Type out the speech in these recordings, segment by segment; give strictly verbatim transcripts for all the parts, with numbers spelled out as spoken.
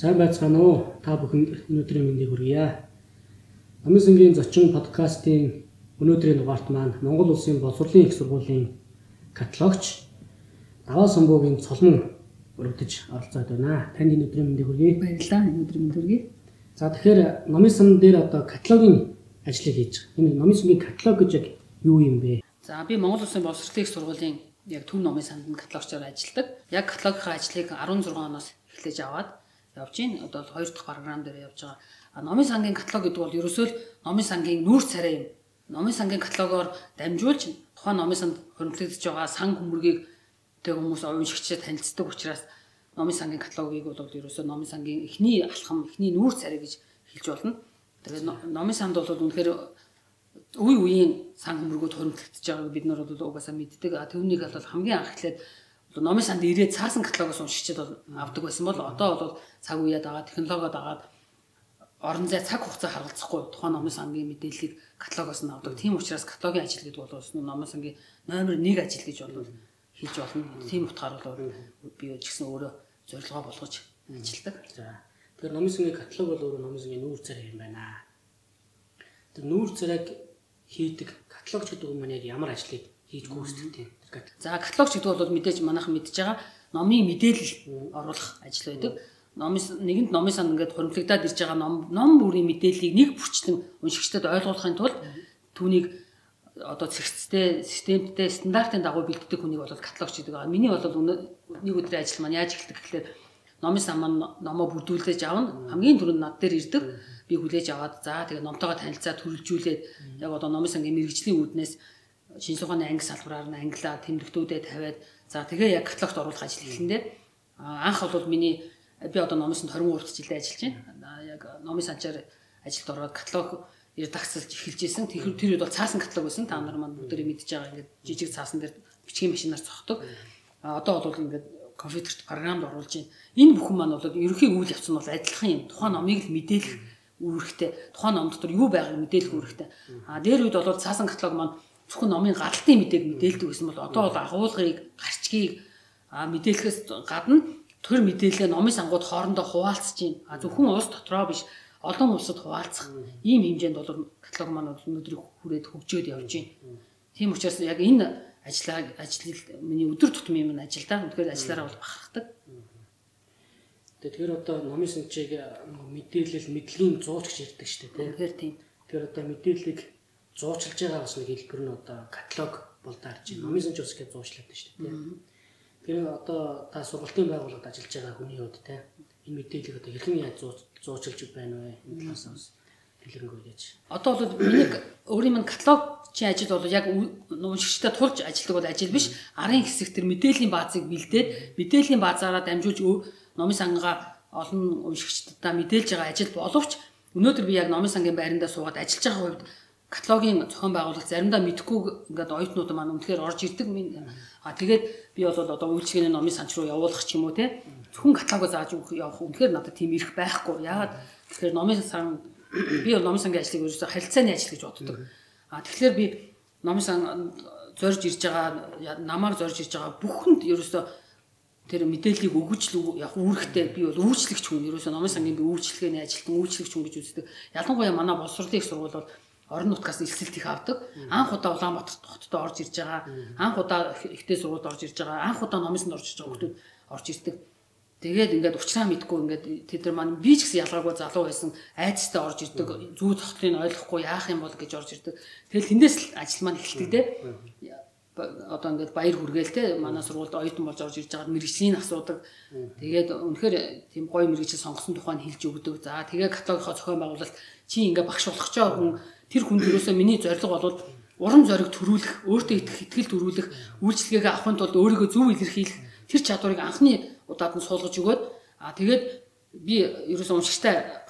Сайн байцгаана уу? Та бүхэнд өнөөдрийн мэндийг хүргье. Номын сангийн зочин подкастын өнөөдрийн дугаарт маань Монгол Улсын боловсролын их сургуулийн каталогч Даваа Самбуугийн цолмон өргөдөж оролцоод байна. Танд өнөөдрийн мэндийг хүргье. Баярлалаа. Өнөөдрийн мэнд хүргье. За тэгэхээр номын сан дээр одоо каталогийн ажлыг хийж байгаа. Энэ номын сангийн каталог гэж яг юу юм бэ? За би Монгол Улсын боловсролын их сургуулийн яг төв номын санд каталогчоор ажилладаг. Яг каталогын ажлыг арван зургаан оноос эхлэж аваад явж байна. Одоо хоёр дахь програм дээр явж байгаа. А номын сангийн каталог гэдэг бол ерөөсөө л номын сангийн нүүр царай юм. Номын сангийн каталогоор дамжуулж тухайн номын санд хөрөнгөлөгдөж байгаа сан хүмүргийг тэг хүмүүс уншигчдад танилцдаг учраас номын сангийн каталогийг бол ерөөсөө номын сангийн эхний алхам, эхний нүүр царай гэж хэлж болно. Тэгээд номын санд бол үнэхээр үе үеийн сан хүмүргүүд хөрөнгөлөгдөж байгааг бид нар бол угаасаа мэддэг. А түүнийг бол хамгийн анх эхлээд номын санд ирээд цаасан каталогоос уншигчдад бол авдаг байсан бол одоо бол цаг үеэд байгаа технологиод агаад орон зай цаг хугацаа харгалзахгүй тухайн номын сангийн мэдээллийг каталогоос нь авдаг. Тийм учраас каталогийн ажил гэдэг бол номын сангийн номер нэг ажил гэж бол хэлж болно. Тийм утгаар бол би ч гэсэн өөрөө зорилгоо болгож ажилладаг. За тэгэхээр номын сангийн каталог бол өөрөө номын сангийн нүүр царай юм байна. Тэр нүүр царайг хийдэг каталогч гэдэг юм яг ямар ажлыг хийж гүйцэтгэдэг юм. За каталогч гэдэг бол мэдээж манайхан мэдж байгаа номын мэдээлэл оруулах ажил байдаг. Номын нэгэнд номын санд ингээд хөрөнгөлөгдөд ирж байгаа ном ном бүрийн мэдээллийг нэг бүрчлэн уншигчдад ойлгуулахын тулд түүнийг одоо цэгцтэй, системтэй, стандартын дагуу бэлддэг хүнийг бол каталогч гэдэг. Миний бол нэг өдрийн ажил маань яаж эхэлдэг гэхлээр номын сан маань номоо бүрдүүлж авна. Хамгийн түрүүнд над дээр ирдэг. Би хүлээж аваад за тэгээ номтойгоо танилцаа төрөлжүүлээд яг одоо номын сангийн мэрэгжлийн үүднээс шинэ суханы анги салбараар нь англиа тэмдэгтүүдэд тавиад за тэгээ яг каталогт оруулах ажил эхлэндээ анх бол миний би одоо номын санд двадцать ಮೂರು жилдээ ажиллаж байна. Яг номын санчаар ажилд ороод каталог редакцлж эхэлж исэн. Тэр тэр үед бол цаасан каталог байсан. Та нар маань бүгдээ мэдж байгаа ингээд жижиг цаасан дээр бичгийн машинаар цохдог. А одоо бол ингээд компьютерт програмд оруулж байна. Энэ бүхэн маань бол ерөнхий үйл явц нь бол адилхан юм. Тухайн номыг л мэдээлэх үүрэгтэй. Тухайн ном дотор юу байгааг мэдээлэх үүрэгтэй. А дээр үед бол цаасан каталог маань зөвхөн номын гаралтын мэдээг мэдээлдэг гэсэн бол одоо бол агуулгыг, гарчгийг мэдээлэхээс гадна тэр мэдээлэл номын сангууд хоорондоо хуваалцж байна. А зөвхөн улс дотроо биш, олон улсад хуваалцах ийм хэмжээнд бол каталог маань өнөөдрийг хүрээд хөгжөөд явж байна. Тийм учраас яг энэ ажлаа ажил миний өдөр тутмын минь ажилдаа үнэхээр ажиллаараа бол бахархдаг. Тэгэхээр одоо номын санчийг мэдээлэл мэдлэгийн зуучч ярьдаг шүү дээ. Тэгэхээр тийм. Тэгэхээр одоо мэдээллийг зуучилж байгаа бас нэг хэлбэр нь одоо каталог бол даарж байна. Номын санч ус гэж зуучлаад байна шүү дээ. Тэгэхээр одоо та сургалтын байгууллагад ажиллаж байгаа хүний хувьд те энэ мэдээллийг одоо хэрхэн яаж зуучилж байна вэ? Энэ талаас бас дэлгэрэнгүй яаж. Одоо бол миний өөрийн минь каталогчийн ажил бол яг уншигчдад тулж ажилладаг бол ажил биш. Арын хэсэг төр мэдээллийн баазыг бэлдээд мэдээллийн баазаараа дамжуулж номын сангаа олон уншигчдаа мэдээлж байгаа ажил боловч өнөөдөр би яг номын сангийн байрандаа суугаад ажиллаж байгаа хувьд каталогийн зохион байгуулалт заримдаа мэдхгүй ингээд оюутнууд маань үнэхээр орж ирдэг. А тэгээд би бол одоо үйлчлэгээний номын санч руу явуулах ч юм уу те зөвхөн каталогоо зааж явах үнэхээр надад тийм ирэх байхгүй. Яагаад тэгэхээр номын сан би бол номын сангийн ажлыг ерөөсөй харилцааны ажил гэж боддог. А тэгэхээр би номын сан зорж ирж байгаа намаар зорж ирж байгаа бүхэнд ерөөсөй тэр мэдээллийг өгөж л яг үүрэгтэй би бол үйлчлэгч хүн ерөөсөй номын сангийн би үйлчлэгээний ажилтан үйлчлэгч хүн гэж үздэг. Ялангуяа манай боловсролын их сургууль бол орон нутгаас элсэлт их авдаг. Анх удаа Улаанбаатар хотод орж ирж байгаа. Анх удаа ихтэй сургуульд орж ирж байгаа. Анх удаа номын санд орж ирж байгаа хүмүүс орж ирдэг. Тэгээд ингээд учраа мэдгүй ингээд тэд нар маань би ч гэсэн ялгаагүй залуу байсан айцтай орж ирдэг. Зүү тогтлыг ойлгохгүй яах юм бол гэж орж ирдэг. Тэгэл тэндээс л ажил маань эхэлдэг те. Одоо ингээд баяр хүргээл те манай сургуульд оюутан болж орж ирж байгаад мэрэгжлийн асуудаг. Тэгээд үнэхээр тийм гоё мэрэгжил сонгосон тухайг хэлж өгдөг. За тэгээ каталогийнхоо зохион байгуулалт чи ингээд багш болох ч хүн тэр хүн төрөөсөө миний зорилго бол уран зориг төрүүлэх, өөртөө итгэл төрүүлэх, үйлчлэгээ авахын тулд өөрийгөө зөв илэрхийлэх тэр чадварыг анхны удаад нь суулгаж өгөөд а тэгээд би ерөөсөө уншигчтай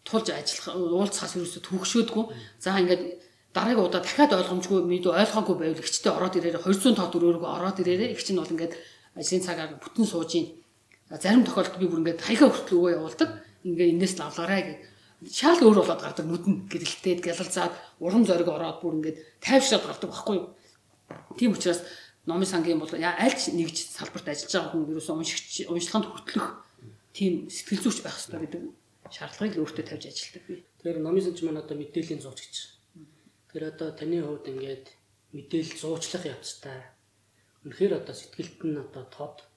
тулж ажиллах уулзахаас ерөөсөө төгшөөдгөө. За ингээд дараагийн удаа дахиад ойлгомжгүй мэдээ ойлгоогүй байвал ихчтэй ороод ирээрээ двести тоо дөрөөргөө ороод ирээрээ их чинь бол ингээд ажлын цагаар бүтэн сууж ийн. Зарим тохиолдолд би бүр ингээд хаяга хүртэл өгөө явуулдаг. Ингээд энэс л авлаарай гэх. Шаал өөр болоод гардаг нүдэн гэрэлтээд гялалзаад уран зориг ороод бүр ингээд тайвшраад гардаг байхгүй юу. Тийм учраас номын сангийн бол аль ч нэгж салбарт ажиллаж байгаа хүн ерөөсөө уншигч уншлаганд хүртэлх тийм сэтгэл зүйч байх хэрэгтэй гэдэг шаардлагыг өөртөө тавьж ажилладаг би. Тэгэхээр номын санч маань одоо мэдээллийн зуучч. Тэгэхээр одоо таны хувьд ингээд мэдээлэл зуучлах явцтай. Үнэхээр одоо сэтгэлд нь одоо тод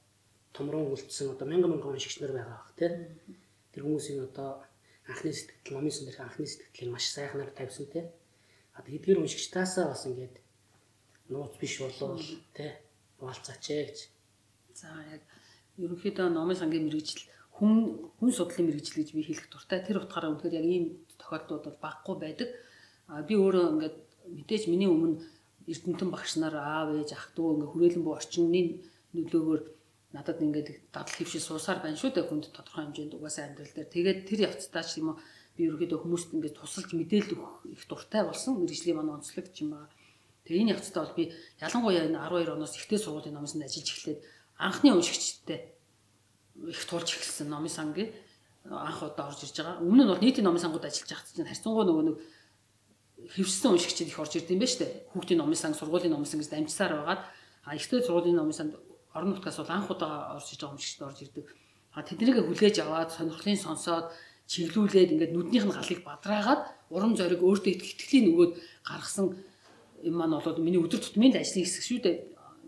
томрон үлдсэн одоо мянган мянган уншигч нар байгаа бах тий. Тэр хүмүүсийн одоо анхны сэтгэл номын сан дээрх анхны сэтгэлийг маш сайхнаар тавьсан тий. Одоо эдгээр уншигчтаасаа бас ингээд нууц биш болов тий хуалцаач ээ гэж. За яг ерөнхийдөө номын сангийн мэрэгжил хүн хүн судлалын мэрэгжил гэж би хэлэх дуртай. Тэр утгаараа үнэхээр яг ийм тохиолдлууд бол баггүй байдаг. А би өөрөө ингээд мэдээж миний өмнө Эрдэнэтэн багш нар аав ээж ах дүү ингээд хүрээлэн буй орчны нөлөөгөөр надад ингээд дадал хөвшил суусаар байна шүү дээ хүнд тодорхой хэмжээнд угаасаа амьдрал дээр. Тэгээд тэр явцдаа ч юм уу би ерөөдөө хүмүүст ингээд тусалж мэдээлэл өгөх их дуртай болсон мэрэгжлийн маань онцлог юм байна. Тэгээ энэ явцдаа бол би ялангуяа энэ арван хоёр оноос ихтэй сургуулийн номын санд ажиллаж эхлээд анхны уншигчтай их тулж эхэлсэн номын сангийн анх удаа орж ирж байгаа. Өмнө нь бол нийтийн номын сангууд ажиллаж байхад чинь харьцангуй нөгөө нэг хэвшсэн уншигчид их орж ирд юм байна шүү дээ. Хүүхдийн номын санг, сургуулийн номын санг гэж дамжсаар байгаад а ихтэй сургуулийн номын санд орон нутгаас бол анх удаа орж иж байгаа уншигчид орж ирдэг. А тэднийг хүлээж аваад сонирхлын сонсоод чиглүүлээд ингээд нүднийх нь галыг бадраагаад урам зориг өөртөө итгэлийн нөгөөд гаргасан юм маань бол миний өдөр тутмын ажлын хэсэг шүү дээ.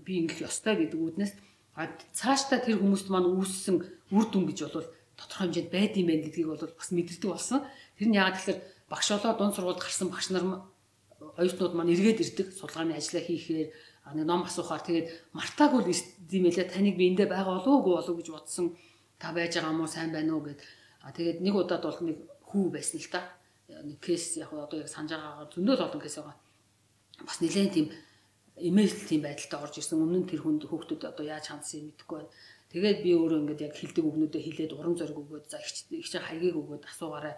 Би ингэх ёстой гэдэг үднээс а цаашдаа тэр хүмүүст маань үүссэн үр дүн гэж бол тодорхой хэмжээнд байд юм байна гэдгийг бол бас мэддэг болсон. Тэр нь яагаад тэгэхээр багш болоо дунд сургуульд гарсан багш нар оюутнууд маань эргээд ирдэг судалгааны ажлаа хийхээр нэг ном асуухаар тэгээд мартаагүй л юм ялаа таныг би эндээ байгаа болов уу болов гэж бодсон та байж байгаа юм уу сайн байна уу гэд а тэгээд нэг удаад бол нэг хүү байсан л да нэг кейс яг одоо яг санаж байгаагаар зөндөл олон кейс байгаа бас нэлээд тийм имэйл тийм байдалтай орж ирсэн өмнө нь тэр хүнд хүүхдүүд одоо яаж хандсан юм мэдэхгүй байна. Тэгээд би өөрөө ингээд яг хилдэг өгнөдөө хилээд урам зориг өгөөд за их их хайгийг өгөөд асуугаарай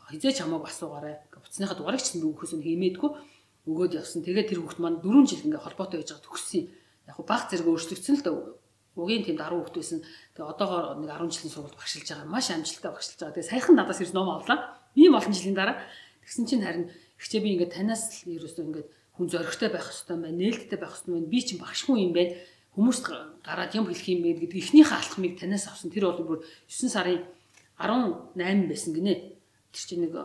хизээч хамаагүй асуугаарай буцсныхаа дугаарыг ч нөгөөхөөс нь хиймээдгүй өгөөд явсан. Тэгээд тэр хүүхд маань дөрвөн жил ингээд холбоотой байж байгаа төгссөн. Яг хуу баг зэрэг өөрчлөгдсөн л да. Угийн тийм даруй хүүхд байсан. Тэгээд одоогоор нэг арван жилийн сургуульд багшилж байгаа. Маш амжилттай багшилж байгаа. Тэгээд саяхан надаас ирсэн ном авлаа. Ийм олон жилийн дараа тэгсэн чинь харин ихчээ би ингээд танаас л ерөөсөө ингээд хүн зоригтой байх хэрэгтэй юм байна. Нээлттэй байх хэрэгтэй юм байна. Би чинь багшгүй юм байна. Хүмүүст гараад юм хэлэх юм бэ гэдэг эхнийхээ алхмыг танаас авсан. Тэр бол бүр есөн сарын арван найман байсан гинэ. Тэр чинь нэг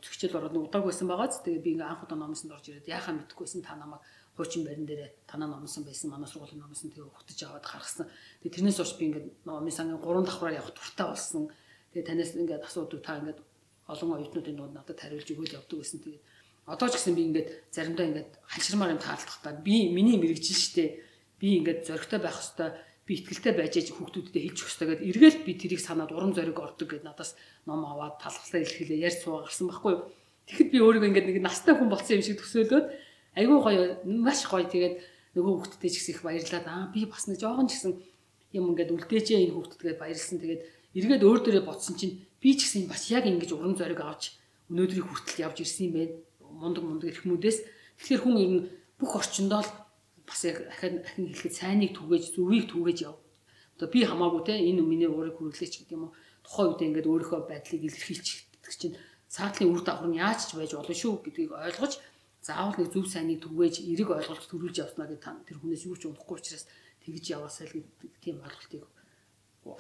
зөгчөл ороод нэг удааг байсан байгаа ч тэгээ би ингээ анх удаа номсонд орж ирээд яхаа мэдхгүйсэн та намайг хуучин барин дээрээ танаа номсон байсан манай сургуулийн номсон тэгээ хөтөж аваад гаргасан. Тэгээ тэрнээс хойш би ингээ номын сангийн гурван давхраар явах дуртай болсон. Тэгээ танаас ингээ асуудаг та ингээ олон оюутнуудын дунд надад хариулж өгөөл явдаг байсан. Тэгээ одоо ч гэсэн би ингээ заримдаа ингээ ханширмаар юм таалдахтаа би миний мэрэгжил штэ би ингээ зоригтой байх хэвээр би итгэлтэй байж ээж хүүхдүүдэд хэлж өгөх хэрэгтэй гэдэг эргээл би тэрийг санаад урам зориг ордог гэд надаас ном аваад талхлаа илэрхийлээ ярьж суугаа гарсан байхгүй юу. Тэгэхэд би өөрийгөө ингээд нэг настай хүн болсон юм шиг төсөөлөөд айгүй гоё маш гоё тэгээд нөгөө хүүхдтэй ч гэсэн их баярлаад аа би бас нэг жоохон ч гэсэн юм ингээд үлдээжээ энэ хүүхдтэйгээ баярлсан тэгээд эргээд өөр дөрөө бодсон чинь би ч гэсэн бас яг ингэж урам зориг авч өнөөдрийг хүртэл явж ирсэн юм байна. Мундаг мундаг эрхмүүдээс тэгэхээр хүн ер нь бүх орчиндоо л бас яг ахин ахин хэлэхэд сайныг түгээж зүвийг түгээж яв. Одоо би хамаагүй те энэ миний уурыг хүргэлээч гэдэг юм уу. Тухайн үед ингээд өөрийнхөө байдлыг илэрхийлчих чинь цаатлын үр дагавар нь яаж ч байж болно шүү гэдгийг ойлгож заавал нэг зөв сайныг түгээж эрэг ойлголт төрүүлж явснаа гэдэг тэр хүнээс юу ч унахгүй учраас тэгж яваасаа л гэдэг тийм ойлголтыг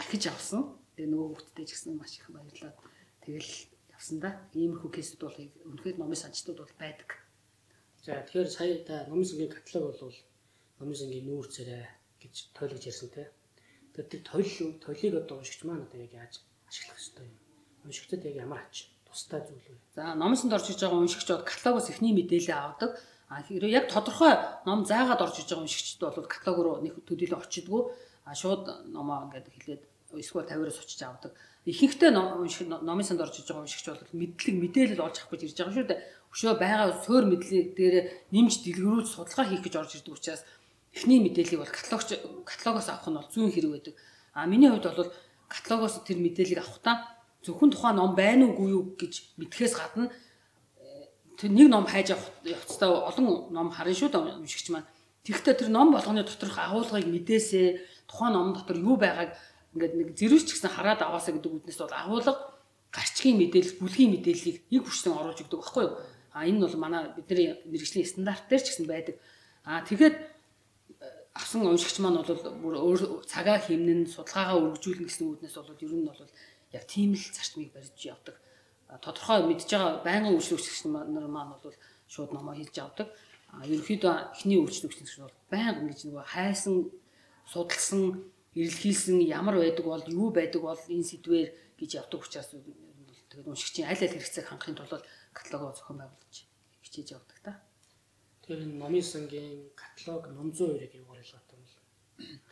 ахиж авсан. Тэгээ нөгөө хүүхдтэй ч гэсэн маш их баярлаад тэгэл явсан да. Иймэрхүү кейсүүд бол үнэхээр номын санчтууд бол байдаг. За тэгэхээр сая та номын сангийн каталог бол номын сангийн нүүр царай гэж тойлогч ярьсан те. Тэгэхээр тэр тойл тойлыг одоо уншигч маань одоо яг яаж ашиглах ёстой юм? Уншигчдад яг ямар ач тустай зүйл вэ? За номын санд орж иж байгаа уншигчдод каталогоос эхний мэдээлэл авдаг. А хэрэг яг тодорхой ном заагаад орж иж байгаа уншигчд бол каталог руу нэг төдийлөн очидгүй. А шууд номоо ингээд хэлээд эсвэл тавираас очиж авдаг. Ихэнхдээ ном унших номын санд орж иж байгаа уншигч бол мэдлэг мэдээлэл олж авах гэж ирж байгаа шүү дээ. Өшөө байгаа суур мэдлэг дээр нэмж дэлгэрүүлж судалгаа хийх гэж орж ирдэг учраас эхний мэдээллийг бол каталогч каталогоос авах нь бол зүүн хэрэг байдаг. А миний хувьд бол каталогоос тэр мэдээллийг авахдаа зөвхөн тухайн ном байна уугүй юу гэж мэдхээс гадна тэр нэг ном хайж авах явцдаа олон ном харна шүү дээ уншигч маань. Тэгэхдээ тэр ном болгоны доторх агуулгыг мэдээсээ тухайн ном дотор юу байгааг ингээд нэг зэрүүч ч гэсэн хараад аваасаа гэдэг үднэс бол агуулга гарчгийн мэдээлэл, бүлгийн мэдээллийг нэг хүчтэн оруулж өгдөг байхгүй юу? А энэ бол манай бидний мэргэжлийн стандарт дээр ч гэсэн байдаг. А тэгээд авсан уншигч маань бол бүр өөр цагаа хэмнэн судалгаагаа өргөжүүлнэ гэсэн үүднээс бол ер нь бол яг тийм л зарчмыг барьж явдаг. Тодорхой мэдж байгаа байнгын үйлчлэгч нар маань бол шууд номоо хийж авдаг. Ерөнхийдөө эхний үйлчлэгч нар бол байнга ингэж нөгөө хайсан, судалсан, эрэлхийлсэн ямар байдаг бол юу байдаг бол энэ сэдвээр гэж явдаг учраас тэгээд уншигчийн аль аль хэрэгцээг хангахын тулд каталогоо зохион байгуулж хичээж явдаг та. Тэгэхээр номын сангийн каталог номзуу хоёрыг явуулж байгаа юм бол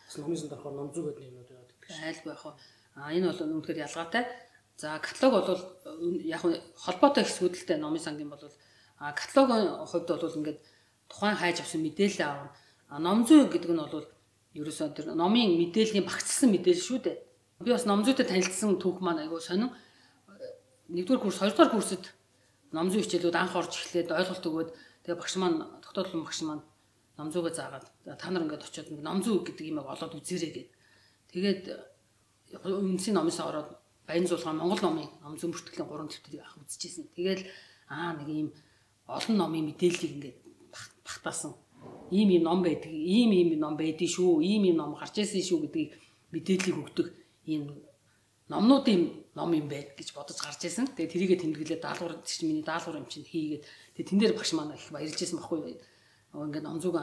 бас номын санд орохоор номзуу гэдэг нэрнүүд яваад байдаг шүү. Айлгүй яг аа энэ бол үнэхээр ялгаатай. За каталог бол яг холбоотой хэсгүүд л дээ номын сангийн бол а каталогийн хувьд бол ингээд тухайн хайж авсан мэдээлэл аавна. А номзүй гэдэг нь бол ерөөсөө тэр номын мэдээллийн багцсан мэдээлэл шүү дээ. Би бас номзүйтэй танилцсан түүх маань айгүй сонин. Нэгдүгээр курс, хоёрдугаар курсэд номзүй хичээлүүд анх орж эхлээд ойлголт өгөөд тэгээ багш маань тогтоодлын багш маань номзүйгээ заагаад та нар ингээд очиод номзүй гэдэг юм олоод үзээрэй гэд. Тэгээд үнсийн номоос ороод Баянзуулгын Монгол номын номзүй бүртгэлийн гурван төвтгийг авах үзчихсэн. Тэгээд аа нэг ийм олон номын мэдээллийг ингээд багтаасан. Ийм ийм ном байдаг, ийм ийм ном байдгийг шүү, ийм ийм ном гарч ирсэн шүү гэдгийг мэдээллийг өгдөг ийм номнуудын ном юм байд гэж бодож гарч ирсэн. Тэгээ тэрийгэ тэмдэглээд даалгавар чинь миний даалгавар юм чинь хийгээд тэгээ тэн дээр багш маань их баярлж ирсэн баггүй. Ингээд номзууг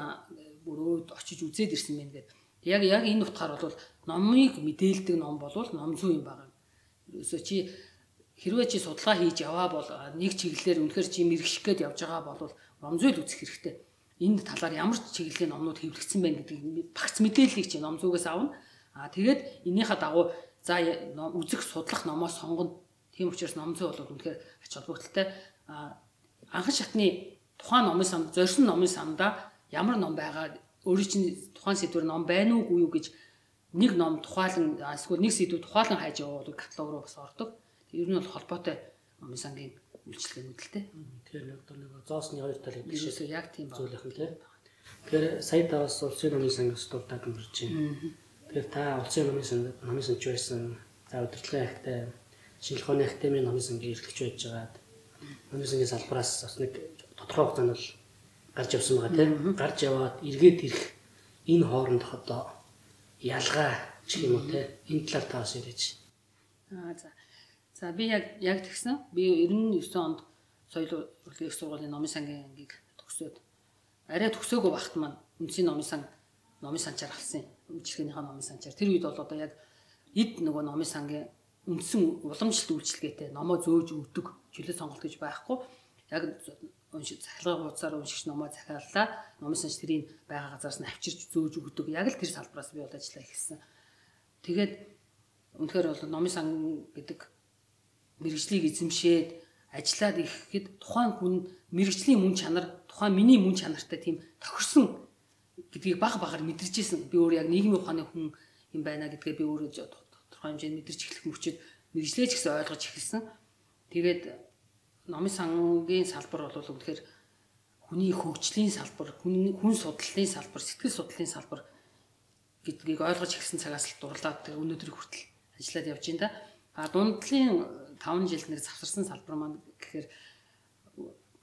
бүр өөд очиж үзээд ирсэн мэн гэдэг. Яг яг энэ утгаар бол номыг мэдээлдэг ном болвол номзүй юм байна. Ерөөсөө чи хэрвээ чи судалгаа хийж яваа бол нэг чиглэлээр үнэхээр чи мэрэгших гээд явж байгаа бол номзүй л үзэх хэрэгтэй. Энд талаар ямар ч чиглэлийн номнууд хэвлэгдсэн байна гэдгийг багц мэдээллийг чи номзуугаас авна. Аа тэгээд энийхээ дагуу за үзэх судлах номоо сонгоно. Тийм учраас номзүй бол үнэхээр ач холбогдолтой. Аа анхан шатны тухайн номын санд, зорьсон номын сандаа ямар ном байгаа, өөрийн чинь тухайн сэдвэр ном байна уугүй юу гэж нэг ном тухайлан эсвэл нэг сэдв тухайлан хайж яваад каталог руу бас ордог. Ер нь бол холбоотой номын сангийн үйлчлэгэнүүд л дээ. Тэгэхээр нэг нэг зоосны хоёр тал гэдэг шиг яг тийм зүйлэх юм тийм. Тэгэхээр сая таваас улсын номын сангаас дуртаад мөрж байна. Тэгэхээр та улсын номын сан номын санч байсан. За удирдлагын ахтай шинжлэх ухааны академийн номын сангийн эрхлэгч байж байгаад номын сангийн салбараас бас нэг тодорхой хугацаанд бол гарч явсан байгаа тийм. Гарч яваад эргээд ирэх энэ хоорондох одоо ялгаа ч юм уу тийм. Энэ талаар та бас ярьж. Аа за. За би яг яг тэгсэн. Би девяносто девять онд соёл урлагийн их сургуулийн номын сангийн ангийг төгсөөд арай төгсөөгөө багт маань үндэсний номын сан номын санчаар авсан юм. Үйлчлэгнийхээ номын санчаар. Тэр үед бол одоо яг эд нөгөө номын сангийн үндсэн уламжлалт үйлчлэгээтэй номоо зөөж өгдөг чөлөө сонголт гэж байхгүй. Яг уншиж захилгын хуудасаар уншигч номоо захиаллаа. Номын санч тэрийг байгаа газараас нь авчирч зөөж өгдөг. Яг л тэр салбараас би бол ажиллаа эхэлсэн. Тэгээд үнэхээр бол номын сан гэдэг мэргэжлийг эзэмшээд ажиллаад ирэхэд тухайн хүн мэргэжлийн мөн чанар, тухайн миний мөн чанартай тийм тохирсон гэдгийг баг багаар мэдэрч ирсэн. Би өөр яг нийгмийн ухааны хүн юм байна гэдгээ би өөрөө тодорхой хэмжээнд мэдэрч эхлэх мөчөд мэргэжлээ ч гэсэн ойлгож эхэлсэн. Тэгээд номын сангийн салбар бол үнэхээр хүний хөгжлийн салбар, хүн хүн судлалын салбар, сэтгэл судлалын салбар гэдгийг ойлгож эхэлсэн цагаас л дурлаад өнөөдрийг хүртэл ажиллаад явж байна да. А дундлын таван жилд нэг завсарсан салбар маань гэхээр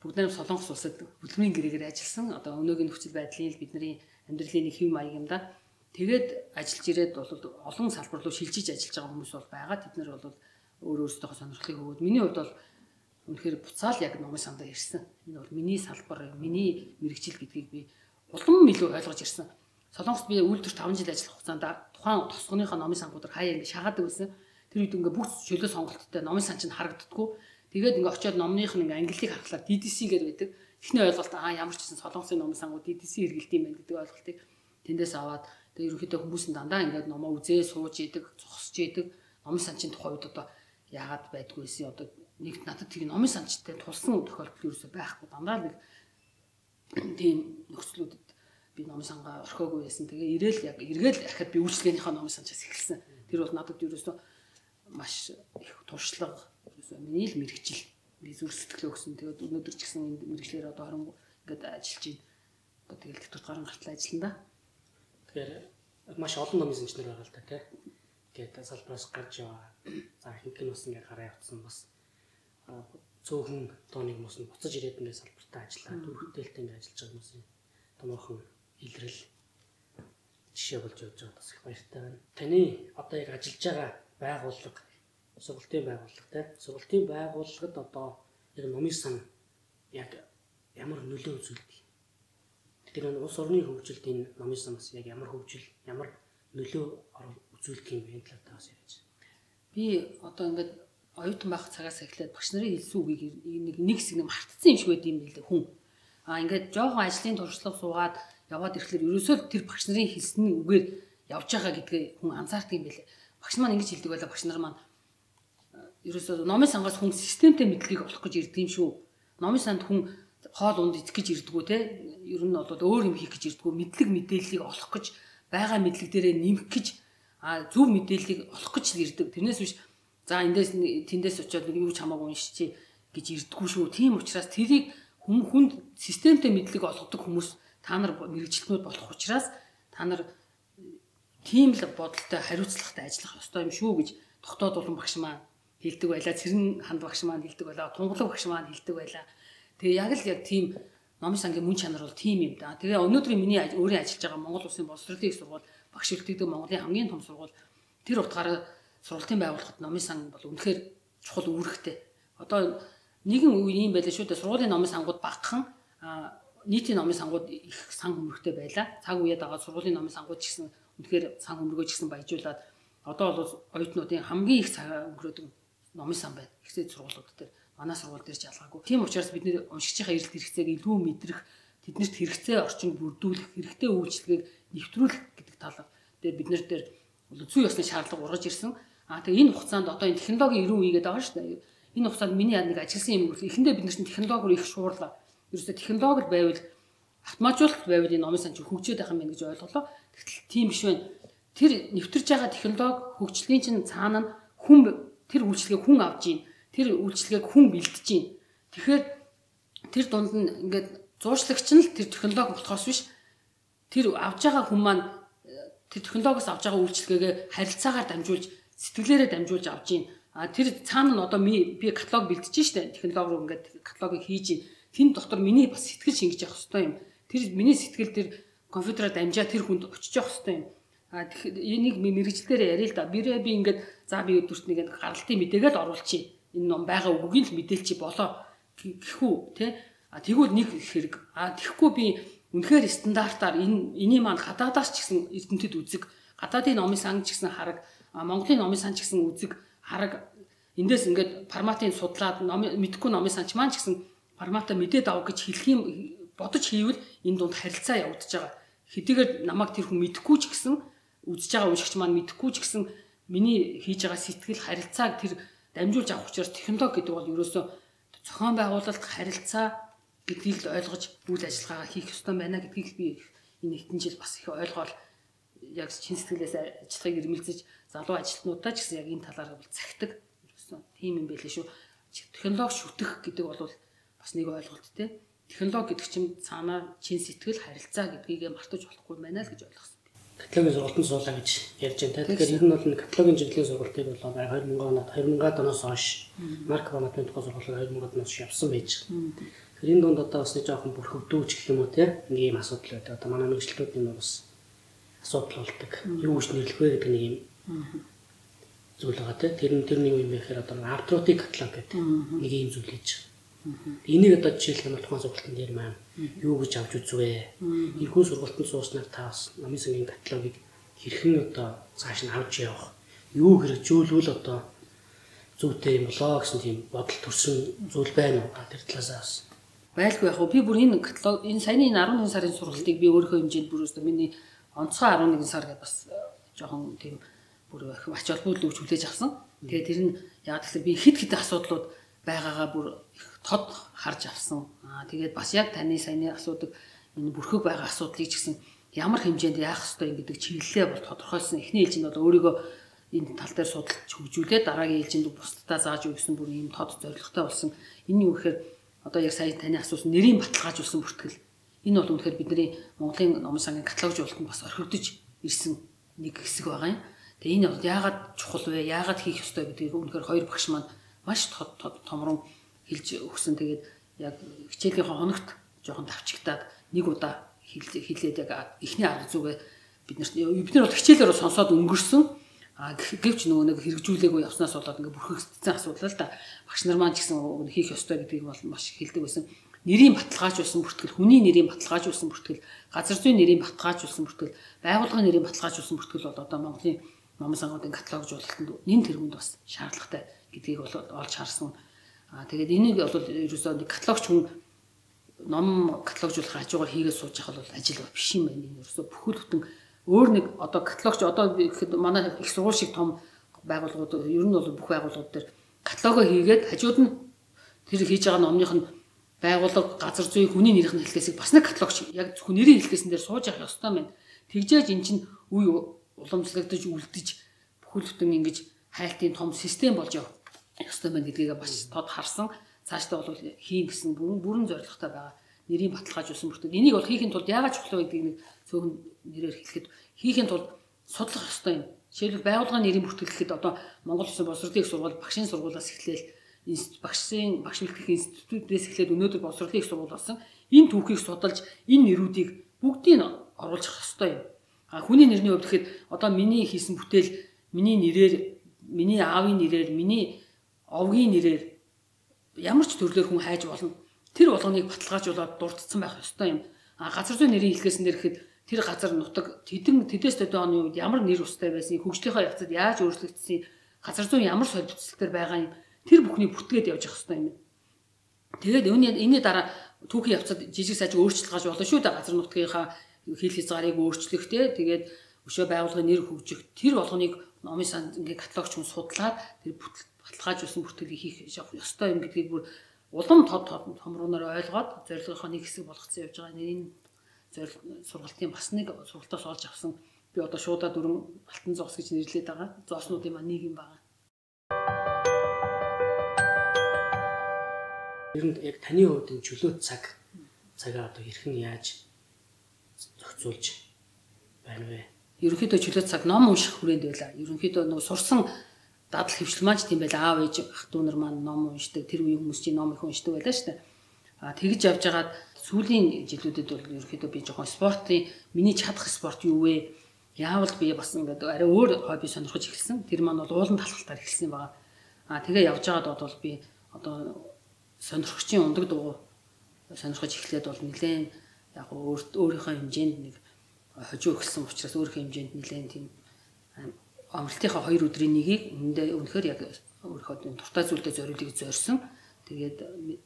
бүгд нэг Солонгос улсад хөдөлмөрийн гэрээгээр ажилласан. Одоо өнөөгийн нөхцөл байдлын бидний амьдралын нэг хэв маяг юм да. Тэгээд ажиллаж ирээд бол олон салбар руу шилжиж ажиллаж байгаа хүмүүс бол байгаа. Тэд нар бол өөр өөрсдийнхөө сонирхлыг өгөөд миний хувьд бол үнэхээр буцаал яг номын сандаа ирсэн. Энэ бол миний салбар, миний мэрэгжил гэдгийг би улам илүү ойлгож ирсэн. Солонгост би үйлдвэрт таван жил ажиллах хугацаанд тухайн тосгоныхоо номын сангуудаар хаяа ингэ шахаадаг байсан. Тэр үед ингээ бүх чөлөө сонголттой номын сан чинь харагддаггүй. Тэгээд ингээ очиод номных нь ингээ ангиллыг харахлаар ди ди си гэж байдаг. Эхний ойлголт аа ямар ч гэсэн солонгосын номын сангууд ди ди си хэрэгэлт юм байна гэдэг ойлголтыг тэндээс аваад тэгээд ерөнхийдөө хүмүүс нь дандаа ингээ номоо үзээ сууж идэг, зогсож идэг. Номын сан чинь тухайн үед одоо яагаад байдгүй байсан одоо нэг надад тийм номын санчтай тулсан тохиолдол ерөөсөй байхгүй. Дандаа нэг тийм нөхцлүүдэд би номын сангаа орхиогүй байсан. Тэгээ ирээл яг эргээл ахад би үйлчлэгнийхээ номын санчаас эхэлсэн. Тэр бол надад ерөөсөө маш их туршлага ерөөсөө миний л мэрэгжил би зүрх сэтгэлээ өгсөн. Тэгээд өнөөдөр ч гэсэн энэ мэрэгчлэр одоо харин ингээд ажиллаж байна. Одоо тэгэл тэтгэврт гарын гартал ажиллана да. Тэгэхээр маш олон номын санчнаар байгаа л та тий. Тэгээд салбараас гарч яваа. За хинх нь бас ингээд гараа явцсан бас цөөхөн тооны хүмүүс нь буцаж ирээд ингээд салбартаа ажиллаад хүүхдэлтэй ингээд ажиллаж байгаа хүмүүс томоохон илрэл жишээ болж явж байгаа бас их баяртай байна. Таны одоо яг ажиллаж байгаа байгууллага, сургалтын байгууллага те. Сургалтын байгууллагад одоо яг номын сан яг ямар нөлөө үзүүлдэг? Тэр нь улс орны хөгжилд энэ номын санаас яг ямар хөгжил, ямар нөлөө үзүүлдэг юм бэ талаар бас яриач. Би одоо ингээд оюутан байх цагаас эхлээд багш нарын хэлсэн үгийг нэг нэг хэсэг нь мартцсан юм шиг байд юм билээ хүн. Аа ингээд жоохон ажлын туршлага суугаад яваад ирэхлээр ерөөсөө тэр багш нарын хэлсэн үгээр явж байгаа гэдгээ хүн анзаардаг юм билээ. Багш маань ингэж хэлдэг байлаа, багш нар маань ерөөсөө номын сангаас хүн системтэй мэдлэгийг олох гэж ирдэг юм шүү. Номын санд хүн хоол унд идэх гэж ирдэггүй те. Ер нь бол өөр юм хийх гэж ирдэггүй, мэдлэг мэдээллийг олох гэж, байгаа мэдлэг дээрээ нэмэх гэж, а зөв мэдээллийг олох гэж ирдэг. Тэрнээс биш за эндээс тэндээс очиод нэг юу ч хамаагүй уншичи гэж ирдэггүй шүү. Тийм учраас тэрийг хүн хүнд системтэй мэдлэг олгодог хүмүүс та нар мэрэгчлэнүүд болох учраас та нар тийм л бодолтой хариуцлагатай ажиллах ёстой юм шүү гэж тогтоод болон багш маань хэлдэг байлаа. Цэрэн ханд багш маань хэлдэг байлаа. Тунгалаг багш маань хэлдэг байлаа. Тэгээ яг л яг тийм номын сангийн мөн чанар бол тийм юм да. Тэгээ өнөөдрийн миний өөрийн ажиллаж байгаа Монгол Улсын боловсролын их сургууль багш өртөгдөг Монголын хамгийн том сургууль тэр утгаараа сургалтын байгууллагад номын сан бол үнэхээр чухал үүрэгтэй. Одоо нэгэн үе юм байлаа шүү дээ. Сургуулийн номын сангууд багахан нийтийн номын сангууд их сан хөмөрхтэй байлаа. Цаг үеэд байгаа сургуулийн номын сангууд ч гэсэн үнэхээр сан хөмөргөө ч гэсэн баяжуулаад одоо бол оюутнуудын хамгийн их цаг өнгөрөөдөг номын сан байна. Ихсээд сургуулиуд дээр манай сургууль дээр ч ялгаагүй. Тийм учраас бид нэр уншигчийн эрэлт хэрэгцээг илүү мэдрэх, тэднэрт хэрэгцээ орчинд бүрдүүлэх, хэрэгтэй үйлчлэгийг нэвтрүүлэх гэдэг талаар дээр бид нар дээр зүй ёсны шаардлага ургаж ирсэн. Аа тэгээ энэ хугацаанд одоо энэ технологийн эрүүн үегээд байгаа шүү дээ. Энэ хугацаанд миний яг нэг ажилласан юм бол эхэндээ бид нар чинь технологиор их шуурлаа. Ерөөсөө технологид байвал автоматжуулалт байвал энэ номын сан чинь хөгжөөд байх юм байна гэж ойлголоо. Тэгтэл тийм биш байна. Тэр нэвтэрж байгаа технологи хөгжлийн чинь цаана нь хүн тэр үйлчлэгийг хүн авж ийн. Тэр үйлчлэгийг хүн бэлдэж ийн. Тэгэхээр тэр дунд нь ингээд зуурчлагч нь л тэр технологи болохоос биш тэр авж байгаа хүн маань тэр технологиос авж байгаа үйлчлэгээ харилцаагаар дамжуулж сэтгэлээрээ дамжуулж авж ийн. А тэр цаана нь одоо би каталог бэлдэж штэ технологиор ингээд каталогыг хийж ийн. Тэн дотор миний бас сэтгэл шингэж явах хэрэгтэй юм. Тэр миний сэтгэл тэр компьютероор дамжаа тэр хүнд очиж явах хэрэгтэй юм. А энийг мэрэгчлэлээр яриа л да. Бирээ би ингээд за би өдөрт нэг гаралтын мэдээгээд оруулчих. Энэ ном байгаа үгийг л мэдээлчи болоо гэхүү те. А тэгвэл нэг хэрэг. А тэгэхгүй би үнэхээр стандартаар энэ эний маань гадаадаас ч гэсэн эрдэмтэд үзэг, гадаадын номын сан ч гэсэн хараг, Монголын номын сан ч гэсэн үзэг, хараг эндээс ингээд форматыг судлаад мэдхгүй номын санч маань ч гэсэн форматаа мэдээд авах гэж хэлэх юм бодож хийвэл энэ дунд харилцаа явагдаж байгаа. Хэдийгээр намайг тэр хүн мэдхгүй ч гэсэн үзэж байгаа уншигч маань мэдхгүй ч гэсэн миний хийж байгаа сэтгэл харилцааг тэр дамжуулж авах учраас технологи гэдэг бол ерөөсөө зохион байгуулалт харилцаа гэдгийг л ойлгож үйл ажиллагаагаа хийх ёстой байна гэдгийг би энэ хэдэн жил бас их ойлгоод яг чин сэтгэлээс ажиллахыг эрмэлзэж залуу ажилтнуудаа ч гэсэн яг энэ талаар бол цагтаг ерөөсөө тийм юм байлээ шүү. Технологи шүтэх гэдэг бол бас нэг ойлголт те. Технологи гэдэг чинь цаанаа чин сэтгэл харилцаа гэдгийг мартаж болохгүй байна л гэж ойлгосон. Каталогийн сургалтын суулаа гэж ярьж байна. Тэгэхээр ер нь бол каталогийн чиглэлийн сургалтыг бол хоёр мянган оноод хоёр мянган оноос хойш марк форматын тухай сургалтыг хоёр мянган оноос явсан байж байгаа. Тэгэхээр энэ дунд одоо бас нэг жоохон бүрхөвдөөж гэх юм уу те. Нэг юм асуудал байдаг. Одоо манай мэрэгчлүүд энэ бас асуудал болдог. Юу гэж нэрлэх вэ гэдэг нэг юм зүйл байгаа те. Тэр нь тэр нэг юм бэ гэхээр одоо авторитик каталог гэдэг нэг юм зүйл хийж байгаа. Энийг одоо жишээлх нь тухайн сургалтын дээр маань юу гэж авч үзвэ? Энэхүү сургалтанд сууснаар та бас номын сангийн каталогийг хэрхэн одоо цааш нь авч явах? Юу хэрэгжүүлвэл одоо зүйтэй юм болоо гэсэн тийм бодол төрсөн зүйл байна уу? Тэр талаасаа бас байлгүй яг би бүр энэ каталог энэ саяны энэ арван сарын сургалтыг би өөрийнхөө хэмжээнд бүр өстө миний онцгой арван нэг сар гэдээ бас жоохон тийм бүр их ач холбогдол өгч хүлээж авсан. Тэгээ тэр нь яг тэгэхээр би хит хит асуудлууд байгаагаа бүр тод харж авсан. Аа тэгээд бас яг таны саяны асуудаг энэ бүрхэг байгаа асуудлыг ч гэсэн ямар хэмжээнд яах ёстой гэдэг чиглэлээ бол тодорхойлсон. Эхний ээлжинд бол өөрийгөө энэ тал дээр судалж хөгжүүлээд дараагийн ээлжинд бусдаа зааж өгсөн бүр ийм тод зорилготой болсон. Энэ юу гэхээр одоо яг сая таны асуусан нэрийн баталгаажуулсан бүртгэл. Энэ бол үнэхээр бидний Монголын номын сангийн каталогжуулалтанд бас орхигдож ирсэн нэг хэсэг байгаа юм. Тэгээ энэ бол яагаад чухал вэ? Яагаад хийх ёстой гэдгийг үнэхээр хоёр багш маань маш тод томрон хэлж өгсөн. Тэгээд яг хичээлийн хоногт жоохон давчигдаад нэг удаа хэлээд яг эхний арга зүгээ бид нарт бид нар бол хичээлээр сонсоод өнгөрсөн. А гэвч нөгөө нэг хэрэгжүүлээгүй явснаас болоод ингээ бүрхэгдсэн асуудал л да. Багш нар маань ч гэсэн хийх ёстой гэдгийг бол маш их хэлдэг байсан. Нэрийн баталгаажуулсан бүртгэл, хүний нэрийн баталгаажуулсан бүртгэл, газар зүйн нэрийн баталгаажуулсан бүртгэл, байгууллагын нэрийн баталгаажуулсан бүртгэл бол одоо Монголын номын сонгоодын каталогжуулалтанд нэн тэргуунд бас шаардлагатай гэдгийг бол олж харсан. А тэгээд энийг бол ерөөсөө нэг каталогч хүн ном каталогжуулах хажуугаар хийгээд сууж явах бол ажил биш юм байна. Ерөөсөө бүхэл бүтэн өөр нэг одоо каталогч одоо гэхэд манай их сургууль шиг том байгууллагууд ер нь бол бүх байгууллагууд дээр каталогоо хийгээд хажууд нь тэр хийж байгаа номных нь байгууллага, газар зүй, хүний нэрийн хэлхээсийг бас нэг каталогч яг зөвхөн нэрийн хэлхээсэн дээр сууж явах ёстой байна. Тэгжээж эн чинь үе уламжлагдаж үлдэж бүхэл бүтэн ингэж хайлтын том систем болж явах ёстой байна гэдгийг бас тод харсан. Цаашдаа бол хийн гэсэн бүрэн бүрэн зорилготой байгаа. Нэрийн баталгаажуулсан бүртгэл. Энийг бол хийхин тулд яагаад чухал вэ гэдгийг нэг цөөхөн нэрээр хэлэхэд хийхин тулд судлах ёстой юм. Жишээлбэл байгууллагын нэрийн бүртгэл гэхэд одоо Монгол Улсын боловсролын их сургууль багшийн сургуулиас эхлээл багшийн багш бэлтгэх институтээс эхлээд өнөөдөр боловсролын их сургууль болсон. Энэ түүхийг судалж энэ нэрүүдийг бүгдийг оруулж авах ёстой юм. А хүний нэрний хувьд гэхэд одоо миний хийсэн бүтээл миний нэрээр, миний аавын нэрээр, миний овгийн нэрээр ямар ч төрлөөр хүн хайж болно. Тэр болгоныг баталгаажуулаад дурдсан байх ёстой юм. А газар зүйн нэрийн хэлхээсэн дээр гэхэд тэр газар нутаг тэдэн тэдэс төдөө оны үед ямар нэр устай байсан, хөгжлийнхаа явцад яаж өөрчлөгдсөн, газар зүйн ямар солилцолтоор байгаа юм. Тэр бүхнийг бүртгээд явж явах ёстой юм. Тэгээд энэний дараа түүхийн явцад жижиг сажиг өөрчлөлт гаж болно шүү дээ. Газар нутгийнхаа хэл хязгаарыг өөрчлөх те тэгээд өшөө байгууллагын нэр хөгжих тэр болгоныг номын санд ингээ каталогч хүн судлаад тэр баталгаажуулсан бүртгэлийг хийх ёстой юм гэдгийг бүр улам тод томруунаар ойлгоод зорилгынхоо нэг хэсэг болгоцсон явж байгаа. Нэрийн сургалтын бас нэг сургалтаас олж авсан. Би одоо шуудаа дөрвөн алтан зоос гэж нэрлэдэг байгаа. Зооснуудын маань нэг юм байгаа. Ер нь яг таны хувьд энэ чөлөөт цаг цагаа одоо хэрхэн яаж зохицуулж байна вэ? Ерөнхийдөө чөлөөт цаг ном унших хүрээнд байла. Ерөнхийдөө нөгөө сурсан дадал хөвшил маань ч тийм байла. Аав ээж ах дүү нар маань ном уншдаг. Тэр үеийн хүмүүс чинь ном их уншдаг байлаа шүү дээ. А тэгж явж байгаад сүүлийн жилүүдэд бол ерөнхийдөө би жоохон спортын миний чадах спорт юу вэ? Яавал би бас ингээд арай өөр хобби сонирхож эхэлсэн. Тэр маань бол уулан талхалтаар эхэлсэн байгаа. А тэгээ явж байгаад бол би одоо сонирхогчийн ундаг дуу сонирхож эхлээд бол нэлээд яг өөрийнхөө хэмжээнд нэг хожуу эхэлсэн учраас өөрийнхөө хэмжээнд нэлээд тийм амралтынхаа хоёр өдрийн нэгийг үндэ үнэхээр яг өөрийнхөө дуртай зүйлдээ зориулыг зорьсон. Тэгээд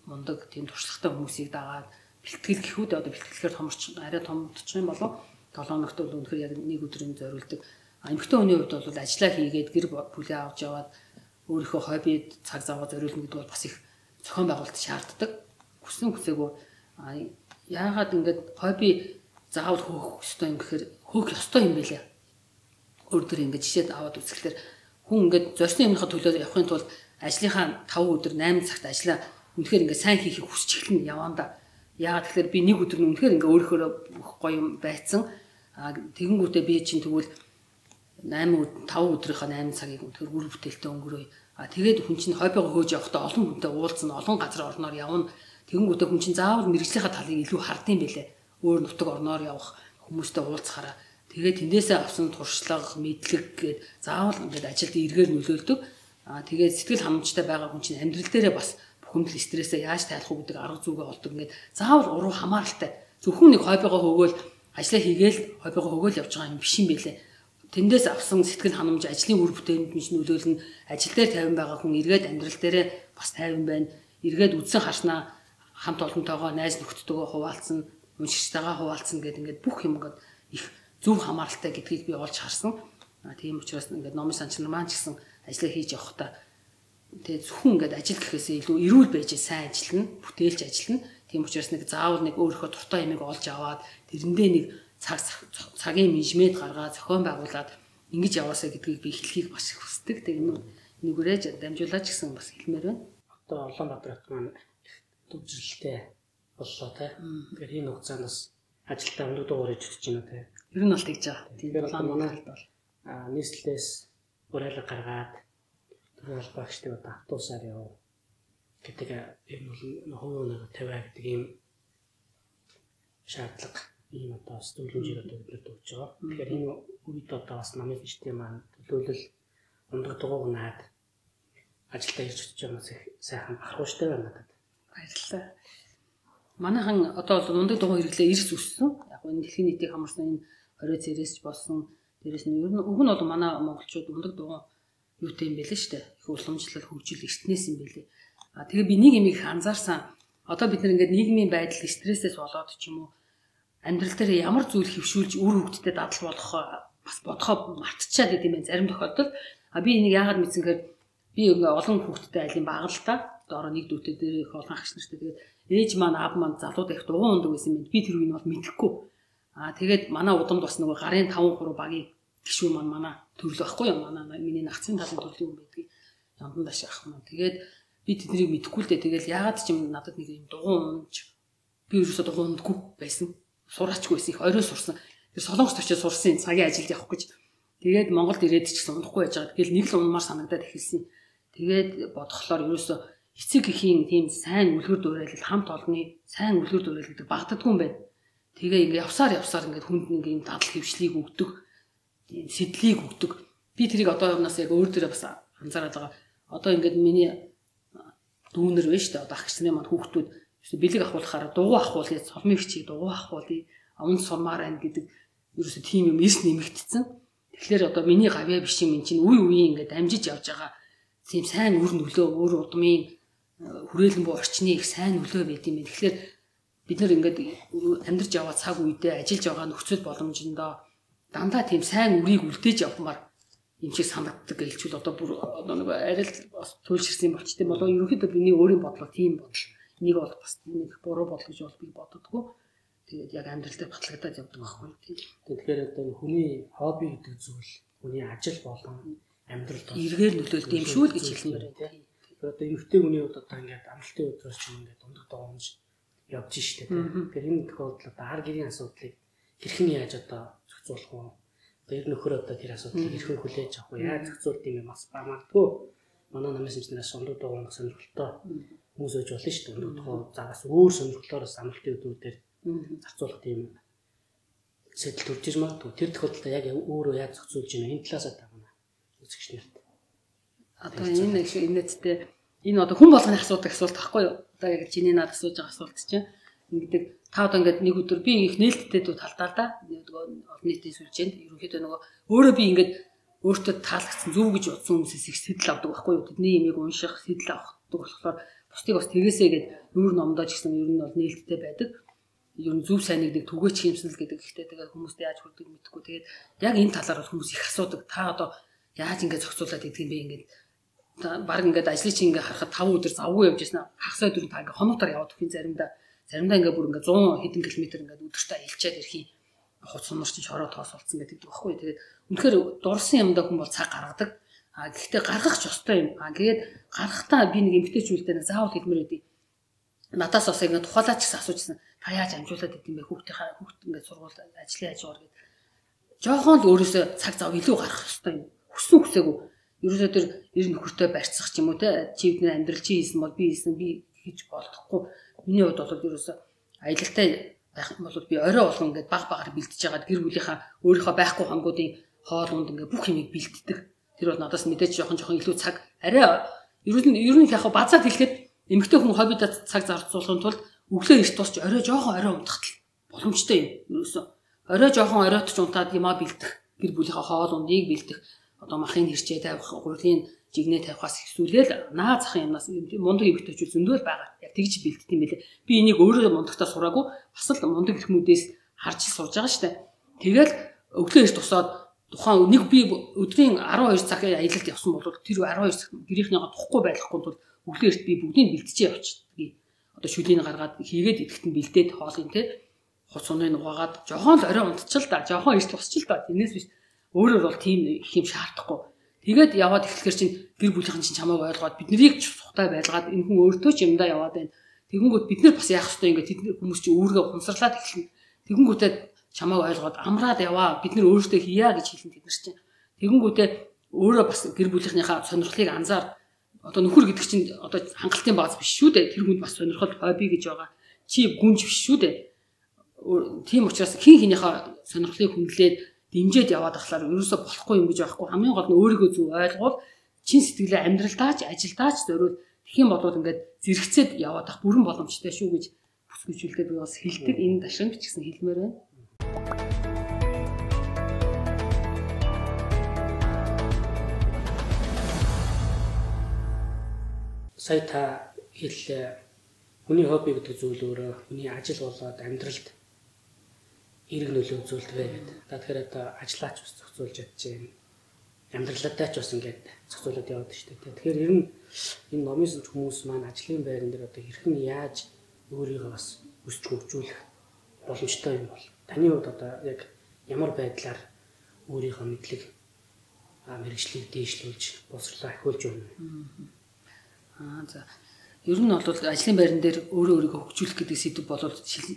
мундаг тийм туршлагатай хүмүүсийг дагаад бэлтгэл гэхүүд одоо бэлтгэлээр томорч арай том болчих юм болов долоо ногт бол үнэхээр яг нэг өдрийн зориулдаг. Эмэгтэй хүний хувьд бол ажиллаа хийгээд гэр бүлээ авч яваад өөрийнхөө хоббид цаг зав зориулна гэдэг бол бас их зохион байгуулалт шаарддаг. Хүссэн хүсээгүй яагаад ингэж хобби заавал хөөх ёстой юм гэхээр хөөх ёстой юм байлаа. Өөрөөр ингэж жишээд аваад үзэхлээр хүн ингэж зорьсон юмнахаа төлөө явахын тулд ажлынхаа таван өдөр восемь цагт ажиллаа үнэхээр ингэ сайн хийхийг хүсч эхлэн яванда. Яагаад тэгэхээр би нэг өдөр нь үнэхээр ингэ өөрөөр гоё юм байцсан. А тэгэнгүүтээ би чинь тэгвэл восемь таван өдрийнхөө восемь цагийг үнэхээр үр бүтээлтэй өнгөрөөе. А тэгээд хүн чинь хоббигоо хөөж явахдаа олон хүнтэй уулзсан, олон газар орноор явна. Тэгэнгүүтээ хүн чинь заавал мэрэгжлийнхаа талыг илүү хардсан байлээ. Өөр нутаг орноор явах хүмүүстэй уулзахаараа. Тэгээд тэндээсээ авсан туршлага, мэдлэг гээд заавал ингээд ажилд эргээр нөлөөлдөг. А тэгээд сэтгэл ханамжтай байгаа хүн чинь амьдрал дээрээ бас бухимдал стрессээ яаж тайлах уу гэдэг арга зүгээ олдог. Ингээд заавал уруу хамааралтай. Зөвхөн нэг хоббигоо хөгөөл ажлаа хийгээл хоббигоо хөгөөл явж байгаа юм биш юм байлээ. Тэндээс авсан сэтгэл ханамж ажлын үр бүтээнд нь нөлөөлнө. Ажил дээр тайван байгаа хүн эргээд амьдрал дээрээ бас тайван байна. Эргээд үдсэн харснаа хамт олонтойгоо найз нөхдөдөө хуваалцсан, уншигчтайгаа хуваалцсан гэдэг ингээд бүх юм ингээд их зөв хамааралтай гэдгийг би олж харсан. А тийм учраас ингээд номын санч нар маань ч гэсэн ажиллаа хийж явахдаа тэгээ зөвхөн ингээд ажил гэхээсээ илүү эрүүл байж сайн ажиллана, бүтээлж ажиллана. Тийм учраас нэг заавал нэг өөрийнхөө дуртай юмыг олж аваад тэрэндээ нэг цаг цагийн менежмент гаргаад зохион байгуулад ингэж яваасаа гэдгийг би хэлхийг бас их хүсдэг. Тэгээ нэгүрээж дамжуулаач гэсэн бас хэлмээр байна. Одоо Улаанбаатар хот маань төвжрэлтэй боллоо те. Тэгэхээр энэ хугацаанаас ажилдаа өндөр дугаар хийж өгч байна те. Ер нь бол тэгж байгаа. Тэгэхээр одоо манай аа нийслэлээс урайлга гаргаад тэр багштай одоо автобусаар яв гэдэг юм бол хувийн нэг тавиа гэдэг ийм шаардлага ийм одоо бас зөвлөмжийг одоо бидэнд өгч байгаа. Тэгэхээр энэ үед одоо бас намын систем маань төлөөлөл ундаг дугуйг наад ажилдаа ирж очиж байгаас их сайхан бахархууштай байна надад. Баярлалаа. Манайхан одоо бол ундаг дугуй хэрэглээ эрс өссөн. Яг энэ дэлхийн нийтийг хамарсан энэ орой цэрээс ч болсон. Дээрээс нь ер нь уг нь бол манай монголчууд ундаг дугуй юутэй юм бэлээ штэ. Их уламжлал хөгжил эртнээс юм бэлээ. А тэгээ би нэг юм их анзаарсан. Одоо бид нар ингээд нийгмийн байдал стрессээс болоод ч юм уу амьдрал дээр ямар зүйл хөвшүүлж үр хөвгтдээ дадал болох бас бодохоо мартчихад идэм байх зарим тохиолдолд. А би энийг яагаад мэдсэн гэхээр би ингээ олон хүүхдтэй айлын бага л та. Доороо нэг дүүтэй дээр их олон ах нартай тэгээд ээж маань аав маань залууд их дугуй ундаг байсан юм. Би тэр үеийг бол мэдэхгүй. Аа тэгээд манай удамд бас нөгөө гарын таван гурав багийн гишүүн маань манай төрлөө байхгүй юу? Манай миний нагцын талын төрлөө юм байдгийг ямдан даш ах маань. Тэгээд би тэднийг мэдэхгүй л дээ. Тэгэл яагаад ч юм надад нэг юм дугуй унж би ерөөсөө дугуй ундаггүй байсан. Сураачгүй байсан. Их орой сурсан. Тэр солонгост очиж сурсан цагийн ажилд явах гэж. Тэгээд Монголд ирээд ч гэсэн унахгүй байж байгаа. Тэгэл нэг л унмаар санагдаад эхэлсэн. Тэгээд бодглохлоор ерөөсөө эцэг эхийн тийм сайн үлгэр дуурайл хамт олонны сайн үлгэр дуурайл гэдэг багтдаггүй юм байна. Тэгээ ингээ явсаар явсаар ингээ хүнд ингээ юм дадал хөвшлийг өгдөг, тийм сэтлийг өгдөг. Би тэрийг одоо юмнаас яг өөр дээрээ бас анзаараад байгаа. Одоо ингээд миний дүүнер вэ штэ одоо ах гисний маань хүүхдүүд бэлэг ахуулахаар дугуй ахуулъя, солмын хчиг дугуй ахуулъя, аманд сурмаар байна гэдэг ерөөсө тийм юм эрс нэмэгдсэн. Тэгэхээр одоо миний гавьяа биш юм чинь үе үеийн ингээд дамжиж явж байгаа тийм сайн үр нөлөө өөр удмын хүрээлэн буу орчны их сайн нөлөө байд юм байна. Тэгэхээр бид нар ингээд амьдарч яваа цаг үедээ ажиллаж байгаа нөхцөл боломжиндоо дандаа тийм сайн үрийг үлдээж явмаар юм шиг санагддаг гэлчүүл одоо бүр одоо нэг арай л бас туйлширсан болчтой болоо ерөнхийдөө миний өөрийн бодлого тийм бодол. Нэг бол бас нэг буруу бодол гэж бол би боддоггүй. Тэгээд яг амьдрал дээр батлагдаад явдаг байхгүй тийм. Тэгэхээр одоо хүний хобби гэдэг зүйл хүний ажил болон амьдралд эргээр нөлөөлт юм шүү л гэж хэлмээр байна. Тэгэхээр одоо эрэгтэй хүний хувьд одоо ингээд амралтын өдрөөс ч юм ингээд ундаг доомж явж штэ тийм. Тэгэхээр энэ тохиолдолд ар гэрийн асуудлыг хэрхэн яаж одоо зохицуулах вэ? Одоо ер нөхөр одоо тэр асуудлыг хэрхэн хүлээж авах вэ? Яаж зохицуулт юм бас бамаадгүй. Манай намын сэмжнээс ундаг доомж сонирхолтой хүмүүс өж болно штэ. Ундаг доомж загас өөр сонирхлоороос амралтын өдрүүдээр зарцуулах тийм сэтэл төрж ир магадгүй. Тэр тохиолдолд яг өөрөө яаж зохицуулж байна? Энэ талаас та манай үзэгч нарт. Одоо энэ их инээдтэй энэ одоо хүн болгоны асуудаг асуулт байхгүй юу? Одоо яг чиний над асууж байгаа асуулт чинь ингэдэг та одоо ингээд нэг өдөр би их нээлттэй дүү талдаа да нөгөө олон нийтийн сүлжээнд ерөнхийдөө нөгөө өөрөө би ингээд өөртөө таалагдсан зөв гэж бодсон хүмүүсээс их сэтэл авдаг байхгүй юу? Тэдний имийг унших, сэтэл авахдаг болохоор бусдыг бас тэгээсээ гээд нүүр номдоо ч гэсэн ер нь бол нээлттэй байдаг. Ер нь зөв сайныг нэг түгээч хэмснэл гэдэг ихтэй тэгээ хүмүүст яаж хүрдэг мэдэхгүй. Тэгээд яг энэ талаар хүмүүс их асуудаг. Та одоо яаж ингэж зохицуулаад идэх юм бэ ингээд баг ингээд ажлыг чи ингээд харахад таван өдөр завгүй явж яснаа хагас өдөр та ингээд хоногтор яваад өгөх юм заримдаа заримдаа ингээд бүр ингээд зуун хэдэн километр ингээд өдөртөө аялчаад ирэх юм хуц сунар чи чороо тоос болцсон гэдэг байхгүй. Тэгээд үнэхээр дурсан юмдаа хүн бол цаг гаргадаг. А гэхдээ гаргах ч ёстой юм. А тэгээд гаргахтаа би нэг эмгтээчүүлдэ заавал хэлмээр байдیں۔ Надаас бас ингээд тухайлаач гэсэн асуужсэн. Та яаж амжуулаад идэм бэ? Хүүхдийнхаа хүүхд ингээд сургууль ажлын хажуугаар гэдэг. Жохон л өөрөөсөө цаг зав илүү гаргах ёстой юм. Хүссэн хүсээгүй. Ерөөсөө тэр ер нь нөхөртөө барьцах ч юм уу те чивдний амьдрал чи хийсэн бол би хийсэн би хийж болдохгүй. Миний хувьд бол ерөөсөө аялалтай байх юм бол би орой болгон ингээд баг багаар бэлдэж байгаад гэр бүлийнхаа өөрийнхөө байхгүй хангуудын хоол унд ингээд бүх юмыг бэлддэг. Тэр бол надаас мэдээж жоохон жоохон илүү цаг арай ер нь ер нь яг базаад хэлэхэд эмэгтэй хүн хоббидаа цаг зарцуулахын тулд өглөө эрт тусч орой жоохон орой унтахт боломжтой юм. Ерөөсөө орой жоохон оройтч унтаад юмаа бэлдэх гэр бүлийнхаа хоол ундыг бэлдэх одоо махын хэрчээ тавих гурийн жигнээ тавихаас ихсүүлээл наа захын юмнаас мундаг эмэгтэйчүүд зөндөл байгаа. Яг тэгж бэлддэг юм байлээ. Би энийг өөрөө мундагтаа сураагүй бас л мундаг хүмүүдээс харж сурж байгаа штэ. Тэгэл өглөө эрт тусаад тухайн нэг би өдрийн арван хоёр цаг аялалд явсан бол тэр арван хоёр цаг гэрийнхнийгаа тухгүй байхгүй тул өглөө эрт би бүгдийг бэлтжээ явчихдаг. Одоо шүлийг гаргаад хийгээд идэхт нь бэлдээд хоолын те хуц суныг угаагаад жохон л орой унтчил да жохон эрт тусчил да тэрнээс биш өөрөөр бол тийм их юм шаардахгүй. Тэгээд яваад эхлэхэр чинь гэр бүлийнхэн чинь чамайг ойлгоод биднийг ч сухтай байлгаад энэ хүн өөртөө ч юмдаа яваад байна. Тэгэнгүүт бид нар бас яах ёстой ингээд тэд хүмүүс чинь өөргөө хумсарлаад эхэлнэ. Тэгэнгүүтээ чамайг ойлгоод амраад яваа бид нар өөртөө хийя гэж хэлэн тэд нар чинь. Тэгэнгүүтээ өөрөө бас гэр бүлийнхнийхээ сонирхлыг анзаар одоо нөхөр гэдэг чинь одоо хангалтын бааз биш шүү дээ. Тэр хүнд бас сонирхол хобби гэж байгаа. Чи гүнж биш шүү дээ. тийм учраас хин хинийхээ сонирхлыг хүндлээд дэмжиж яваад ахлаар ерөөсө болохгүй юм гэж байхгүй. Хамгийн гол нь өөрийгөө зөв ойлгуул чин сэтгэлээ амьдралдаач ажилдаач зориул тэгэх юм бол ингээд зэрэгцээд яваад ах бүрэн боломжтой шүү гэж бүсгүйчүүлдэ би бас хэлдэг. Энэ дашин бичсэн хэлмээр байна. Сая та хэллээ. Хүний хобби гэдэг зүйл өөрөө хүний ажил болоод амьдралд эрг нөлөө үзүүлдэг гэдэг. Та тэгэхээр одоо ажиллаач бас зохицуулж чадчихээн. Амьдралаатай ч бас ингээд зохицуулаад яваад шүү дээ. Тэгэхээр ер нь энэ номын сүнж хүмүүс маань ажлын байран дээр одоо хэрхэн яаж өөрийгөө бас өсч хөгжүүлэх боломжтой юм бол таны хувьд одоо яг ямар байдлаар өөрийнхөө мэдлэг мэргэжлийг дээшлүүлж боловсруулах ахиулж өгнө. Аа за. Ер нь бол ажлын байран дээр өөрөө өөрийгөө хөгжүүлэх гэдэг сэдв бол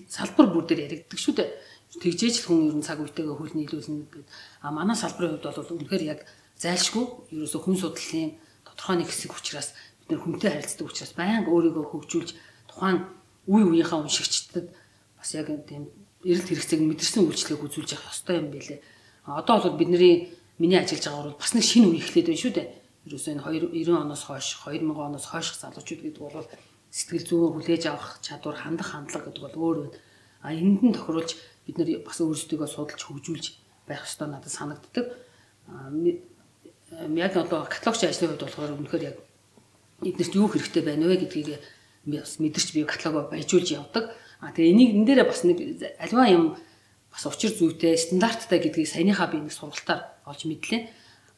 салбар бүр дээр яригддаг шүү дээ. Тэгжээж л хүн ер нь цаг үетэйгээ хөл нийлүүлнэ гэдэг. А манай салбарын хувьд бол үнэхээр яг зайлшгүй ерөөсө хүн судлалын тодорхой нэг хэсэг учраас бид нэр хүнтэй харилцдаг учраас байнга өөрийгөө хөгжүүлж тухайн үе үеийнхаа уншигчдад бас яг тийм эрэлт хэрэгцээг мэдэрсэн үйлчлэгийг үзүүлж явах ёстой юм билээ. Одоо бол бидний миний ажиллаж байгаа бол бас нэг шинэ үе эхлээд байна шүү дээ. Ерөөсөө энэ девяносто оноос хойш две тысячи оноос хойш залуучууд гэдэг бол сэтгэл зүйн хүлээж авах чадвар хандах хандлага гэдэг бол өөр байна. А энд нь тохируулж бид нар бас өөрсдөө судалж хөгжүүлж байх ёстой надад санагддаг. Яг одоо каталогч ажлын хувьд болохоор үнэхээр яг эднэрт юу хэрэгтэй байна вэ гэдгийг бас мэдэрч би каталогоо баяжуулж явдаг. А тэгээ энийг энэ дээрээ бас нэг альва юм бас учир зүйтэй стандарттай гэдгийг саяныхаа би нэг сургалтаар олж мэдлээ.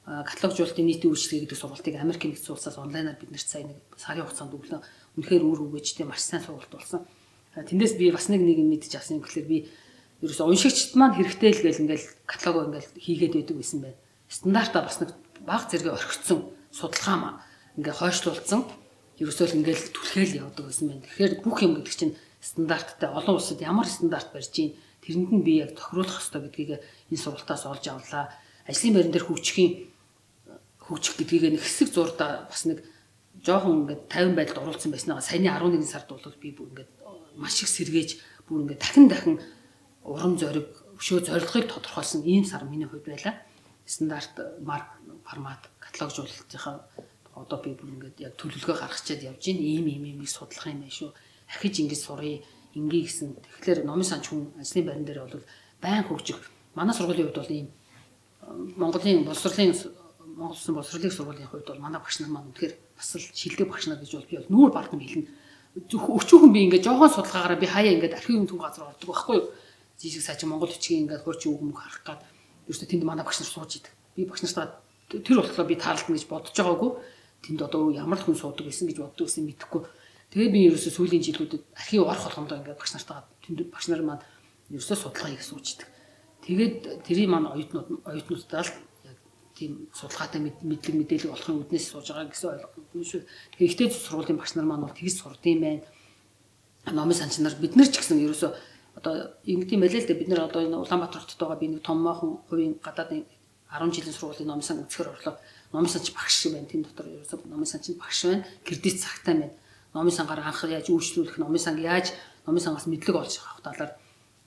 Каталогжуулалтын нийтийн үйлчлэг гэдэг сургалтыг Америкийн нэгдсэн улсаас онлайнаар биднэрт сая нэг сарын хугацаанд өглөө үнэхээр үр өгөөжтэй маш сайн сургалт болсон. Тэндээс би бас нэг нэг юм мэдчих авсан юм гэхэлэр би ерөөсөө уншигчд маань хэрэгтэй л гэл ингээл каталогоо ингээл хийгээд байдаг байсан байна. Стандартаа бас нэг бага зэрэг орхигдсон судалгаа маань ингээ хойшлуулсан ерөөсөө л ингээл түлхээл явдаг байсан байна. Тэгэхээр бүх юм гэдэг чинь стандарттай олон улсад ямар стандарт барьж ийн тэрэнд нь би яг тохируулах хэрэгтэй гэдгийг энэ сургалтаас олж авлаа. Ажлын байран дээр хөгжихийн хөгжих гэдгийг нэг хэсэг зурдаа бас нэг жоохон ингээд тайван байдалд оруулсан байснаа саяны eleven сард бол би бүр ингээд маш их сэргээж бүр ингээд дахин дахин урам зориг өшөө зорилгыг тодорхойлсон ийм сар миний хувьд байлаа. Стандарт марк формат каталогжуулалтынхаа одоо би бүр ингээд яг төлөвлөгөө гаргачаад явж байна. Ийм ийм ийм судлах юм байна шүү. Ахиж ингэж сурыг ингээ гэсэн. Тэгэхээр номын санч хүн ажлын байран дээр бол байн хөгжих. Манай сургуулийн хувьд бол ийм Монголын боловсролын Монгол Улсын боловсролын сургуулийн хувьд бол манай багш нар маань үнэхээр бас л шилдэг багш нар гэж бол би бол нүүр бардам хэлнэ. Өчүүхэн би ингээд жоохон судалгаагаараа би хаяа ингээд архивын төв газар ордог байхгүй юу? Жижиг сажиг Монгол бичгийн ингээд хурчин үг мөг харах гад ерөөсөө тэнд манай багш нар сууж идэг. Би багш нартаа тэр болохоор би таарлна гэж бодож байгаагүй. Тэнд одоо ямар л хүн суудаг байсан гэж боддог гэсэн мэдэхгүй. Тэгээд би ерөөсөө сүүлийн жилүүдэд архив орох болгондоо ингээд багш нартаа тэнд багш нар маань ерөөсөө судалгаа хийх сууж идэг. Тэгээд тэрий маань оюутнууд оюутнуудаа л яг тийм судалгаатай мэдлэг мэдээлэл болохын үднээс сууж байгаа гэсэн ойлголт шүү. Тэгэхээр ихтэй сургуулийн багш нар маань бол тэгж сурдсан байна. Номын санч нар бид нар ч гэсэн ерөөсөө одоо ингэдэм байлээ л дээ бид нар одоо энэ Улаанбаатар хотод байгаа би нэг томоохон хувийн гадаадын ten жилийн сургуулийн номын сан үзэхэр орлоо. Номын санч багш байна. Тэн дотор ерөөсөө номын санч багш байна. Кредит цагтай байна. Номын сангаар анх яаж үйлчлүүлэх, номын санг яаж номын сангаас мэдлэг олж авах талаар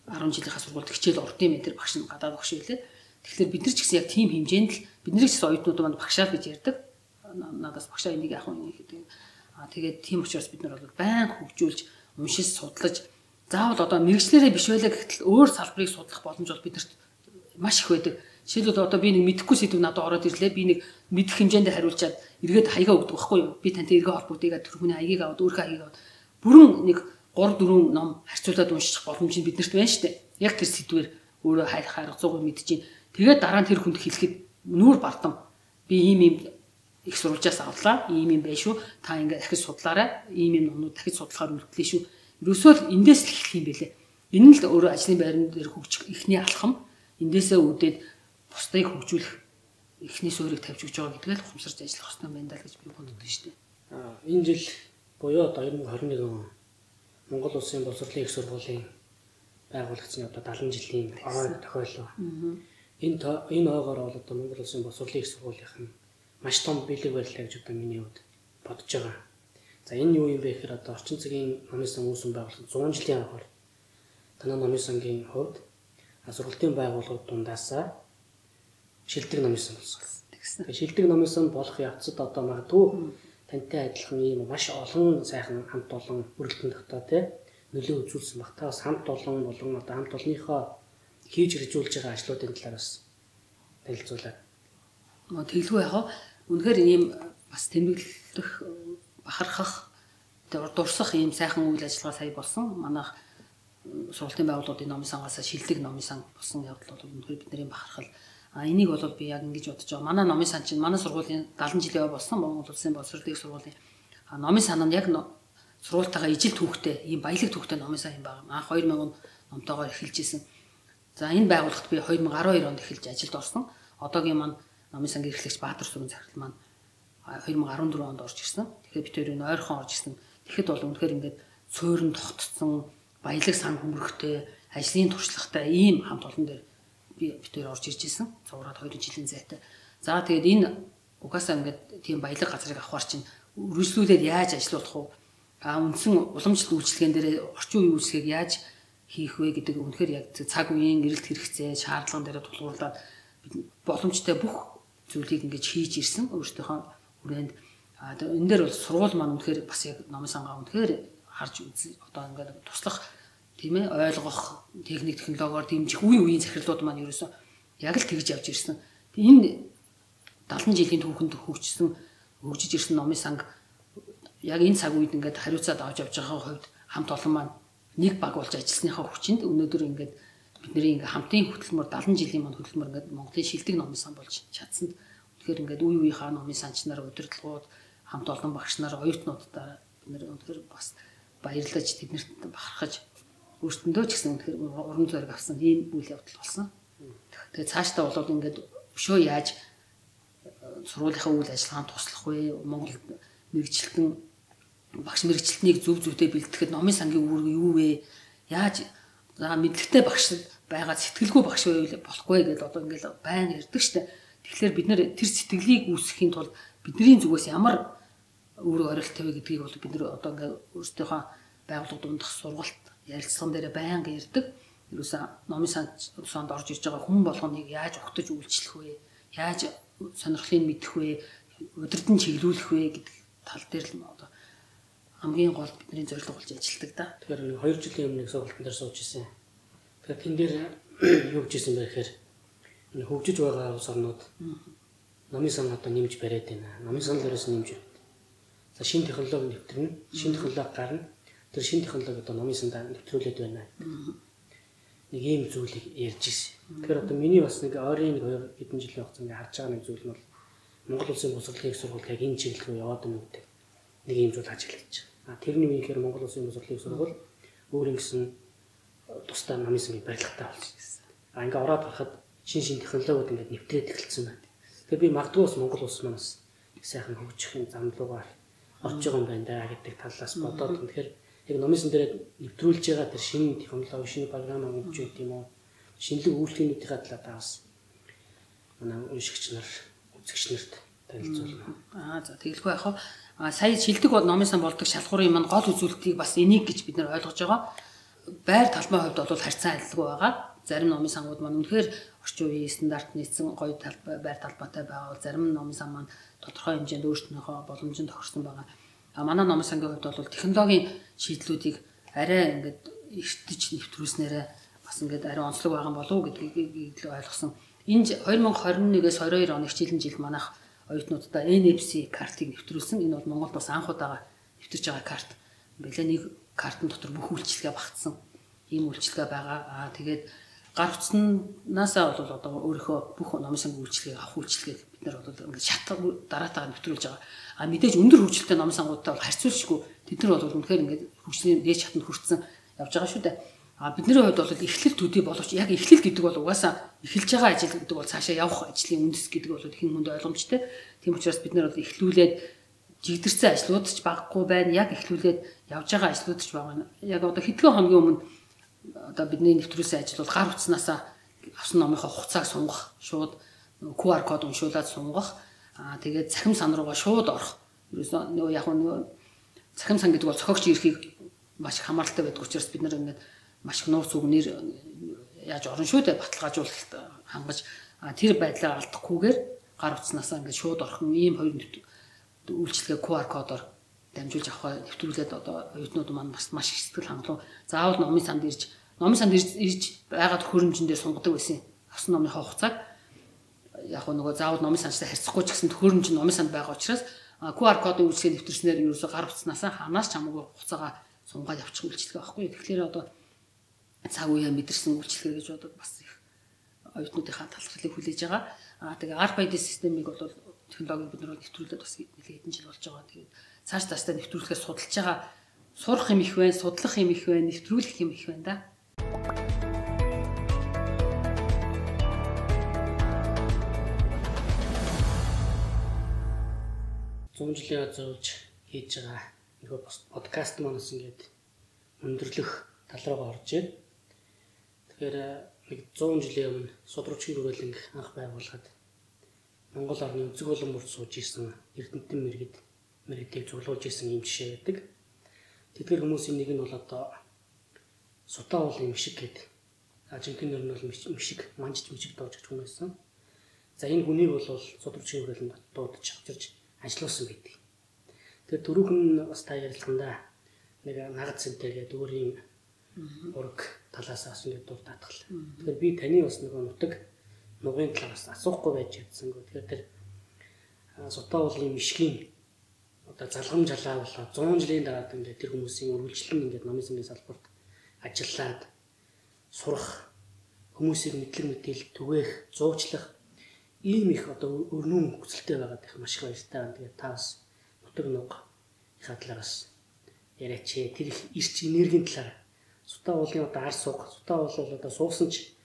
ten жилийнхаа сургуульд хичээл орд юм энэ төр багш нь гадаад багш байлээ. Тэгэхээр бид нар ч гэсэн яг тийм хэмжээнд л бид нар ч гэсэн оюутнууд маань багшаа гэж ярьдаг. Надаас багшаа энийг яах вэ гэдэг. Аа тэгээд тийм учраас бид нар бол байн хөгжүүлж, уншиж, судлаж заавал одоо мэрэгчлэрээ биш байлаа гэтэл өөр салбарыг судлах боломж бол бидэрт маш их байдаг. Жишээлбэл одоо би нэг мэдэхгүй сэдв надад ороод ирлээ. Би нэг мэдэх хэмжээнд хариулчаад эргээд хаягаа өгдөг байхгүй юу? Би тантай эргээ холбогдъё тэр хүний хаягийг аваад өөрийнхөө хаягийг аваад бүрэн нэг three four ном харьцуулаад унших боломж нь биднэрт байна шүү дээ. Яг тэр сэдвээр өөрөө хайх харга зугаар мэдэж чинь. Тэгээд дараа нь тэр хүнд хэлэхэд нүүр бардам би ийм ийм их сурвалжаас авлаа. Ийм ийм bay шүү. Та ингээд дахиж судлаарай. Ийм ийм номнууд дахиж судлахаар үлдлээ шүү. Ерөөсөө л эндээс л эхлэх юм бэлээ. Энэ л өөрөө ажлын байран дээр хөгжих эхний алхам. Эндээсээ үүдээд бусдыг хөгжүүлэх эхний суурийг тавьж өгч байгаа гэдгээ л ухамсарч ажиллах хэрэгтэй байна даа гэж би боддог шүү дээ. Аа энэ жил буюу twenty twenty-one он Монгол Улсын боловсролын их сургуулийн байгуулагдсны одоо seventy жилийн ой тохиоллоо. Энэ энэ ойгоор бол одоо Монгол Улсын боловсролын их сургуулийнх нь маш том бэлэг барилаа гэж одоо миний хувьд бодож байгаа. За энэ юу юм бэ гэхээр одоо орчин цагийн номын сан үүсгэн байгуулсан one hundred жилийн ойгоор танай номын сангийн хувьд сургалтын байгууллагууд дундаасаа шилдэг номын сан болсон. Тэгээ шилдэг номын сан болох явцад одоо магадгүй тантай адилхан ийм маш олон сайхан хамт олон бүрэлдэхүүн тогтоо тий нөлөө үзүүлсэн баг. Та бас хамт олон болон одоо хамт олонныхоо хийж хэрэгжүүлж байгаа ажлуудын талаар бас танилцуулаад. Мөн тэглгүй яхаа үнэхээр ийм бас тэмдэглэх бахархах дурсах ийм сайхан үйл ажиллагаа сая болсон. Манайх сургалтын байгууллагын номын сангаас шилдэг номын сан болсон явдал бол үнэхээр бидний бахархал. А энийг бол би яг ингэж бодож байгаа. Манай номын сан чинь манай сургуулийн дагалан жилийн болсон Монгол Улсын боловсролын сургуулийн номын сан нь яг сургуультайгаа ижил түүхтэй ийм баялаг түүхтэй номын сан юм байна. Анх хоёр мянган номтойгоор эхэлж исэн. За энэ байгууллагт би хоёр мянган арван хоёр онд эхэлж ажилд орсон. Одоогийн маань номын сангийн эрхлэгч Баатар сүрэн захирал маань хоёр мянган арван дөрвөн онд орж ирсэн. Тэгэхээр бид хоёрын ойрхон орж ирсэн. Тэгэхэд бол үнэхээр ингээд цөөрөн тогтцсон баялаг сан хөмрөхтэй ажлын туршлагатай ийм хамт олон дээр би бид хоёр орж ирж исэн. Цувраад хоёр жилийн зайтай. За тэгээд энэ угаасаа ингээд тийм баялаг газрыг авахар чинь үргэлжлүүлээд яаж ажиллах вэ? А үндсэн уламжлалт үйлчлэгэн дээр орчин үеийн үйлчлэгийг яаж хийх вэ гэдэг үнэхээр яг цаг үеийн эрэлт хэрэгцээ, шаардлага дээр тулгуурлаад боломжтой бүх зүйлийг ингэж хийж ирсэн өөртөөхөө хүрээнд. А энэ дээр бол сургууль маань үнэхээр бас яг номын сангаа үнэхээр харж үз одоо ингээд туслах тийм ээ ойлгох техник технологиор дэмжих үе үеийн захирлууд маань ерөөсөн яг л тэгж явж ирсэн. Энэ дагалан жилийн түүхэнд хөгжсөн хөгжиж ирсэн номын санг яг энэ цаг үед ингээд хариуцаад авч явж байгаа хувьд хамт олон маань нэг баг болж ажилласныхаа хүчинд өнөөдөр ингээд бидний ингээд хамтын хөтөлмөр дагалан жилийн маань хөтөлмөр ингээд Монголын шилдэг номын сан болж чадсанд тэгэхээр ингээд үе үеийнхаа номын санч нар удирдлагууд хамт олон багш нар оюутнуудаа бид нэр өнөхөр бас баярлаж тэднэрт бахархаж өөртөндөө ч гэсэн өнөхөр уран зориг авсан ийм үйл явдал болсон. Тэгээ цаашдаа бол ингээд өшөө яаж сургуулийнхаа үйл ажиллагаанд туслах вэ? Монгол мэрэгчлэн багш мэрэгчлэлтнийг зөв зөвтэй бэлтгэхэд номын сангийн үүрэг юу вэ? Яаж за мэдлэгтэй багш байгаа сэтгэлгүй багш байвал болохгүй гэдээ одоо ингээд байн ярьдаг штэ. Тэгэхээр бид нэр тэр сэтгэлийг үүсгэхийн тулд бидний зүгээс ямар үүрэг оролт тавь гэдгийг бол бид нэр одоо ингээд өөрсдийнхөө байгууллага дундах сургалт ярилцлаган дээр байнга ярьдаг. Ерөөсөө номын санд орж ирж байгаа хүн болгоныг яаж ухтаж үйлчлэх вэ? Яаж сонирхлыг мэдэх вэ? Удирдан чиглүүлэх вэ гэдэг тал дээр л одоо хамгийн гол бидний зорилго болж ажилладаг да. Тэгэхээр хоёр жилийн өмнө сургалтын дээр сууж ирсэн. Тэгэхээр тэн дээр юу гэж ирсэн бэ гэхээр энэ хөгжиж байгаа улс орнууд номын сан одоо нэмж бариад байна. Номын сан дээрээс нэмж байна. За шинэ технологи нэвтрэн, шинэ технологи гарна. Тэр шинэ технологи одоо номын санд нэвтрүүлээд байна. Нэг ийм зүйлийг ярьж ирсэн. Тэгэхээр одоо миний бас нэг ойрын нэг хоёр хэдэн жилийн хугацаанд харж байгаа нэг зүйл нь бол Монгол Улсын боловсролын сургууль яг энэ чиглэл рүү яваад байна гэдэг нэг ийм зүйл ажиглаж байна. А тэрний үеийнхэр Монгол Улсын боловсролын сургууль өөр ингэсэн тусдаа номын сангийн барилгатай болсон. А ингээ ороод харахад шин шин технологиуд ингээд нэвтрээд эхэлсэн байна. Тэгэхээр би магадгүй бас Монгол улс маань бас их сайхан хөгжихийн зам руугаар орж байгаа юм байна да гэдэг талаас бодоод тэгэхээр яг номын сан дээр нэвтрүүлж байгаа тэр шинэ технологи, шинэ програм өгч байт юм уу? Шинэлэг үйлчлэгнүүдийн талаар бас манай уншигч нар, үзэгч нарт танилцуулна. Аа за тэгэлгүй яах вэ? А сая шилдэг номын сан болдог шалгуурын маань гол үзүүлэлтийг бас энийг гэж бид нар ойлгож байгаа. Байр талбай хувьд бол харьцан адилгүй байгаа. Зарим номын сангууд маань үнэхээр орчин үеийн стандарт нийцсэн гоё талбай байр талбайтай байгаа бол зарим номын сан маань тодорхой хэмжээнд өөртөөхөө боломжинд тохирсон байгаа. А манай номын сангийн хувьд бол технологийн шийдлүүдийг арай ингээд эртэж нэвтрүүлснээрээ бас ингээд арай онцлог байгаа болов уу гэдгийг ойлгосон. Энэ хоёр мянган хорин нэгээс хоёр хоёр оны хичээлийн жилд манайх оюутнуудаа эн эф си картыг нэвтрүүлсэн. Энэ бол Монголд бас анх удаага нэвтэрч байгаа карт. Бэлээ нэг картын дотор бүх үйлчилгээ багтсан. Ийм үйлчилгээ байгаа. Аа тэгээд гар утснаасаа бол одоо өөрийнхөө бүх номын сангийн үйлчилгээг авах үйлчилгээг бид нар бол ингээд шат дараатайгаар нэвтрүүлж байгаа. А мэдээж өндөр хөгжилтэй номын сангуудтай бол харьцуулшгүй тэд нар бол үнэхээр ингээд хөгжлийн дээд шатанд хүрсэн явж байгаа шүү дээ. А бидний хувьд бол эхлэл төдий боловч яг эхлэл гэдэг бол угаасаа эхэлж байгаа ажил гэдэг бол цаашаа явах ажлын үндэс гэдэг бол хэн хүнд ойлгомжтой. Тийм учраас бид нар бол эхлүүлээд жигдэрсэн ажлууд ч багахгүй байна. Яг эхлүүлээд явж байгаа ажлууд ч байгаа. Яг одоо хэдхэн хоногийн өмнө одоо бидний нэвтрүүлсэн ажил бол гар утснаасаа авсан номынхоо хугацааг сунгах, шууд ку ар код уншуулад сунгах. Аа тэгээд цахим сан руугаа шууд орох. Ерөөсөө нөгөө яг нөгөө цахим сан гэдэг бол зохиогч эрхийг маш их хамааралтай байдаг учраас бид нар ингээд маш их нууц үгнэр яаж орон шүү дээ баталгаажуулалт хангаж тэр байдлаа алдахгүйгээр гар утаснасаа ингээд шууд орхон ийм хоёр үйлчлэгээ ку ар кодоор дамжуулж авах нэвтрүүлээд одоо оюутнууд маань бас маш их сэтгэл хангалуун заавал номын санд ирж номын санд ирж байгаад хөрөмжөндөө сунгадаг байсан. Авсан номынхаа хугацааг яг нөгөө заавал номын сандтай харьцахгүй ч гэсэн хөрөмж нь номын санд байгаа учраас ку ар кодын үйлчлэгээ нэвтрснээр ерөөсө гар утаснасаа ханаас ч хамаагүй хугацаагаа сунгаад явчих үйлчлэгээ байхгүй. Тэгэхээр одоо цаг үеэ мэдэрсэн үйлчлэгээ гэж бодоод бас их оюутнуудынхаа талархлыг хүлээж байгаа. Аа тэгээ ар баядын системийг бол технологиг бид нар нэвтрүүлээд бас нэлээд хэдэн жил болж байгаа. Тэгээд цааш цаашдаа нэвтрүүлэхээ судалж байгаа. Сурах юм их байна, судлах юм их байна, нэвтрүүлэх юм их байна да. зуун жилийн зорж хийж байгаа нөгөө подкаст манаас ингээд өндөрлөх тал руугаа орж байна. Тэгэхээр нэг зуун жилийн өмнө Судрагчийн хүрээлэнг анх байгуулад Монгол орны өнцөг болон бүрт сууж исэн Эрдэнэтэн мэргэд мэргэдийг цуглуулж исэн юм жишээ байдаг. Тэдгээр хүмүүсийн нэг нь бол одоо Сутаа уулын мишиг гэдэг. Жинхэнэ нэр нь бол мишиг, манжиж мишиг доож гэж хүн байсан. За энэ хүнийг бол Судрагчийн хүрээлэнд дуудаж авчирч ажилласан байдаг. Тэгэхээр түрүүхэн бас та ярилцсандаа нэг нагад цэнтэй гэдэг өөрийн ураг талаас бас ингэ дур татгал. Тэгэхээр би таны бас нэг нутаг нугын талаас асуухгүй байж чадсан. Тэгэхээр тэр Сутаа уулын мишгийн одоо залгам жалаа болоо зуун жилийн дараа ингээд тэр хүмүүсийн үргэлжлэн ингээд номын сумын салбарт ажиллаад сурах, хүмүүсийг мэдлэг мэдээлэл түгээх, зуучлах ийм их одоо өрнөн хүсэлтэй байгаад их маш их баяртай байна. Тэгээд та бас нутаг нугийнхаа талаас яриач. Тэр их ирч энергийн талаар Сутаа уулын одоо арс суг, Сутаа уул бол одоо суусан ч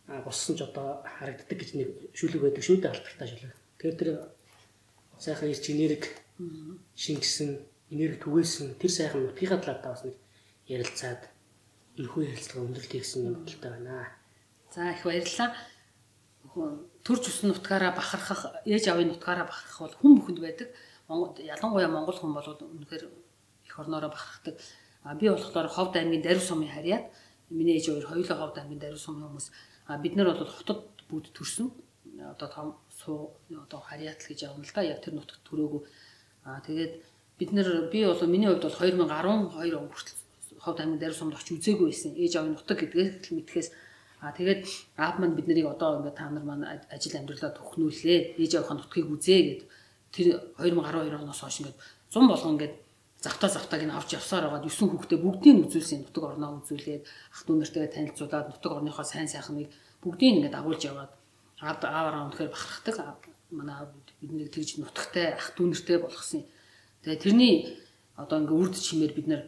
боссон ч одоо харагддаг гэж нэг шүлэг байдаг шүү дээ, алдартай шүлэг. Тэгэхээр тэр сайхан ирч энерги шингэсэн, энерги түгээсэн тэр сайхан нутгийнхаа талаар та бас нэг ярилцаад энэхүү ярилцлага өндөрлөе гэсэн юм бодолтой байна. За их баярлалаа. Төрж өссөн нутгаараа бахархах, ээж авийн нутгаараа бахархах бол хүн бүхэнд байдаг. Монгол ялангуяа монгол хүн бол үнэхээр их орноороо бахархдаг. А би болохоор Ховд аймгийн Дарив сумын харьяат, миний ээж хоёр хоёулаа Ховд аймгийн Дарив сумын хүмүүс. А бид нар бол хотод бүгд төрсөн. Одоо том суу одоо харьяат л гэж явна л да. Яг тэр нутагт төрөөгүй. А тэгээд бид нар би бол миний хувьд бол две тысячи десять он хүртэл Ховд аймгийн Дарив сумд очиж үзээгүй байсан. Ээж авийн нутаг гэдгээ мэдхээс а тэгээд аав маань бид нарыг одоо ингээд та нар маань ажил амьдралаа төхнүүлээ. Ээж авийнхаа нутгийг үзээ гэд тэр две тысячи десять оноос хойш ингээд зам болгон ингээд завтаа завтааг нь авч явсаар байгаа девять хүүхдээ бүгдийг үзүүлсэн нутаг орноо үзүүлээд ах дүү нартайгаа танилцуулаад нутаг орныхоо сайн сайхныг бүгдийг ингээд агуулж яваад ааваараа үнэхээр бахархдаг. Манай аав биднийг тэгж нутагтай ах дүү нартай болгосон. Тэгээ тэрний одоо ингээд үрд чимээр бид нар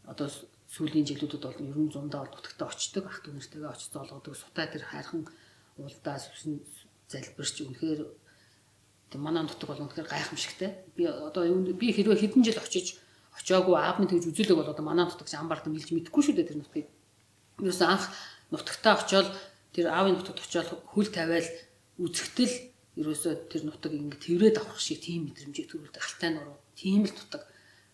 одоо сүүлийн жилүүдэд бол ер нь зундаа бол нутагтаа очдог, ах дүү нартайгаа очиж зоолгодог. Сутаа тэр хайрхан уулдаа сүсэн залбирч үнэхээр манай нутаг бол үнэхээр гайхамшигтай. Би одоо би хэрвээ хэдэн жил очиж очиагүй аав минь тэгж үзүүлэг бол одоо манай нутагч амбард мэлж мэдэхгүй шүү дээ тэр нутгийг. Юус анх нутагтаа очиод тэр аавын нутагт очиод хөл тавиал үзэхтэл ерөөсөө тэр нутаг ингэ тэрврээд авах шиг тийм мэдрэмжийг төрүүлдэг. Алтай нуруу, тийм л нутаг.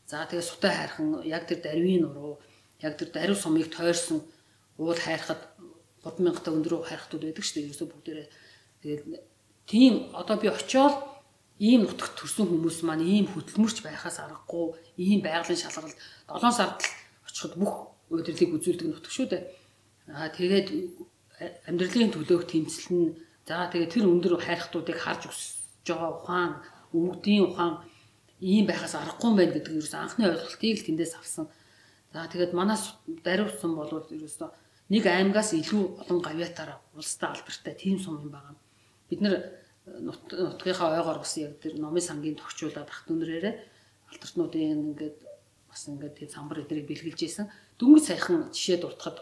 За тэгээ Сутаа хайрхан яг тэр Дарвийн нуруу, яг тэр Дарив сумыг тойрсон уул хайрхад гурван мянгатай өндрөө хайрхтууд байдаг шүү дээ. Ерөөсөө бүгдээрээ тэгээд тийм одоо би очиод ийм нутагт төрсэн хүмүүс маань ийм хөдөлмөрч байхаас аргагүй, ийм байгалийн шалгалт долоон сард очиход бүх удирлыг үзүүлдэг нутаг шүү дээ. Аа тэгээд амьдралын төлөөх тэмцэл нь за тэгээд тэр өндөр хайрхтуудыг харж өсөж байгаа ухаан, өвгдийн ухаан ийм байхаас аргагүй юм байна гэдэг ерөөс анхны ойлголтыг л тэндээс авсан. За тэгээд манай Дарив сум бол ерөөсөө нэг аймагаас илүү олон гавьяатаараа улстай албартай тийм сум юм байна. Бид нар нутгийнхаа ойгоор бас яг тэр номын сангийн тогтчуулаад ах дүүнрээрээ алдартнуудын ингээд бас ингээд тийм самбар эдрийг бэлгэлж ийсэн. Дөнгөж саяхан жишээ дуртахад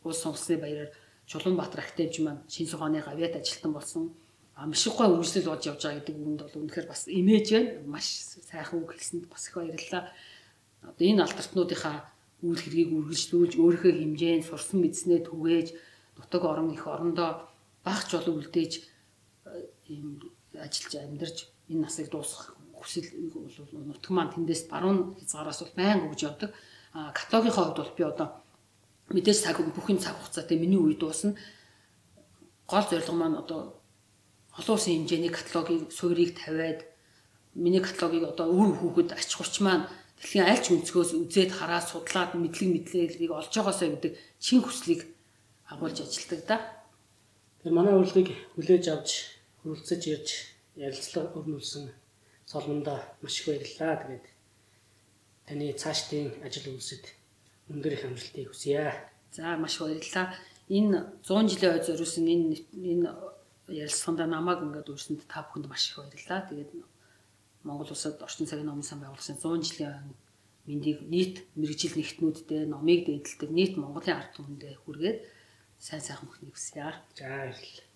улс сонгосны баяраар Чулуунбаатар актемч маань шинэ суханы гавьяат ажилтан болсон. А маш их гой үргэлжлэл болж явж байгаа гэдэг үгэнд бол үнэхээр бас имиж байна. Маш сайхан үг хэлсэнд бас их баярлалаа. Одоо энэ алдартнуудынхаа үйл хэргийг үргэлжлүүлж өөрийнхөө хэмжээнд сурсан мэдснээ түгээж нутаг орон их орондоо багч болов үлдээж ийм ажиллаж амьдарч энэ насыг дуусгах хүсэл нутаг маань тэндээс баруун хязгаараас бол байнга өгж явдаг. А каталогийнхаа хувьд бол би одоо мэдээж цаг бүхэн цаг хугацаатай миний үе дуусна. Гол зорилго маань одоо олон улсын хэмжээний каталогийн суурийг тавиад миний каталогийг одоо үр хүүхэд ач хурч маань дэлхийн аль ч өнцгөөс үзээд хараад судлаад мэдлэг мэдлэгийг олж байгаасаа гэдэг чин хүслийг агуулж ажилладаг да. Тэр манай урилгыг хүлээж авч хүрэлцэж ирж ярилцлага өрнүүлсэн Солонгондоо маш их баярлалаа. Тэгээд таны цаашдын ажил үйлсэд өндөр их амжилтыг хүсье. За маш баярлалаа. Энэ зуун жилийн ой зориулсан энэ энэ ярилцлаганд намайг ингээд үрсэнд та бүхэнд маш их баярлалаа. Тэгээд Монгол улсад орчин цагийн номын сан байгуулсан зуун жилийн мэндийг нийт мэрэгжил нэгтнүүдтэй номыг дээдэлдэг нийт Монголын ард түмэндээ хүргээд сайн сайхан бүхнийг хүсье. За баярлалаа.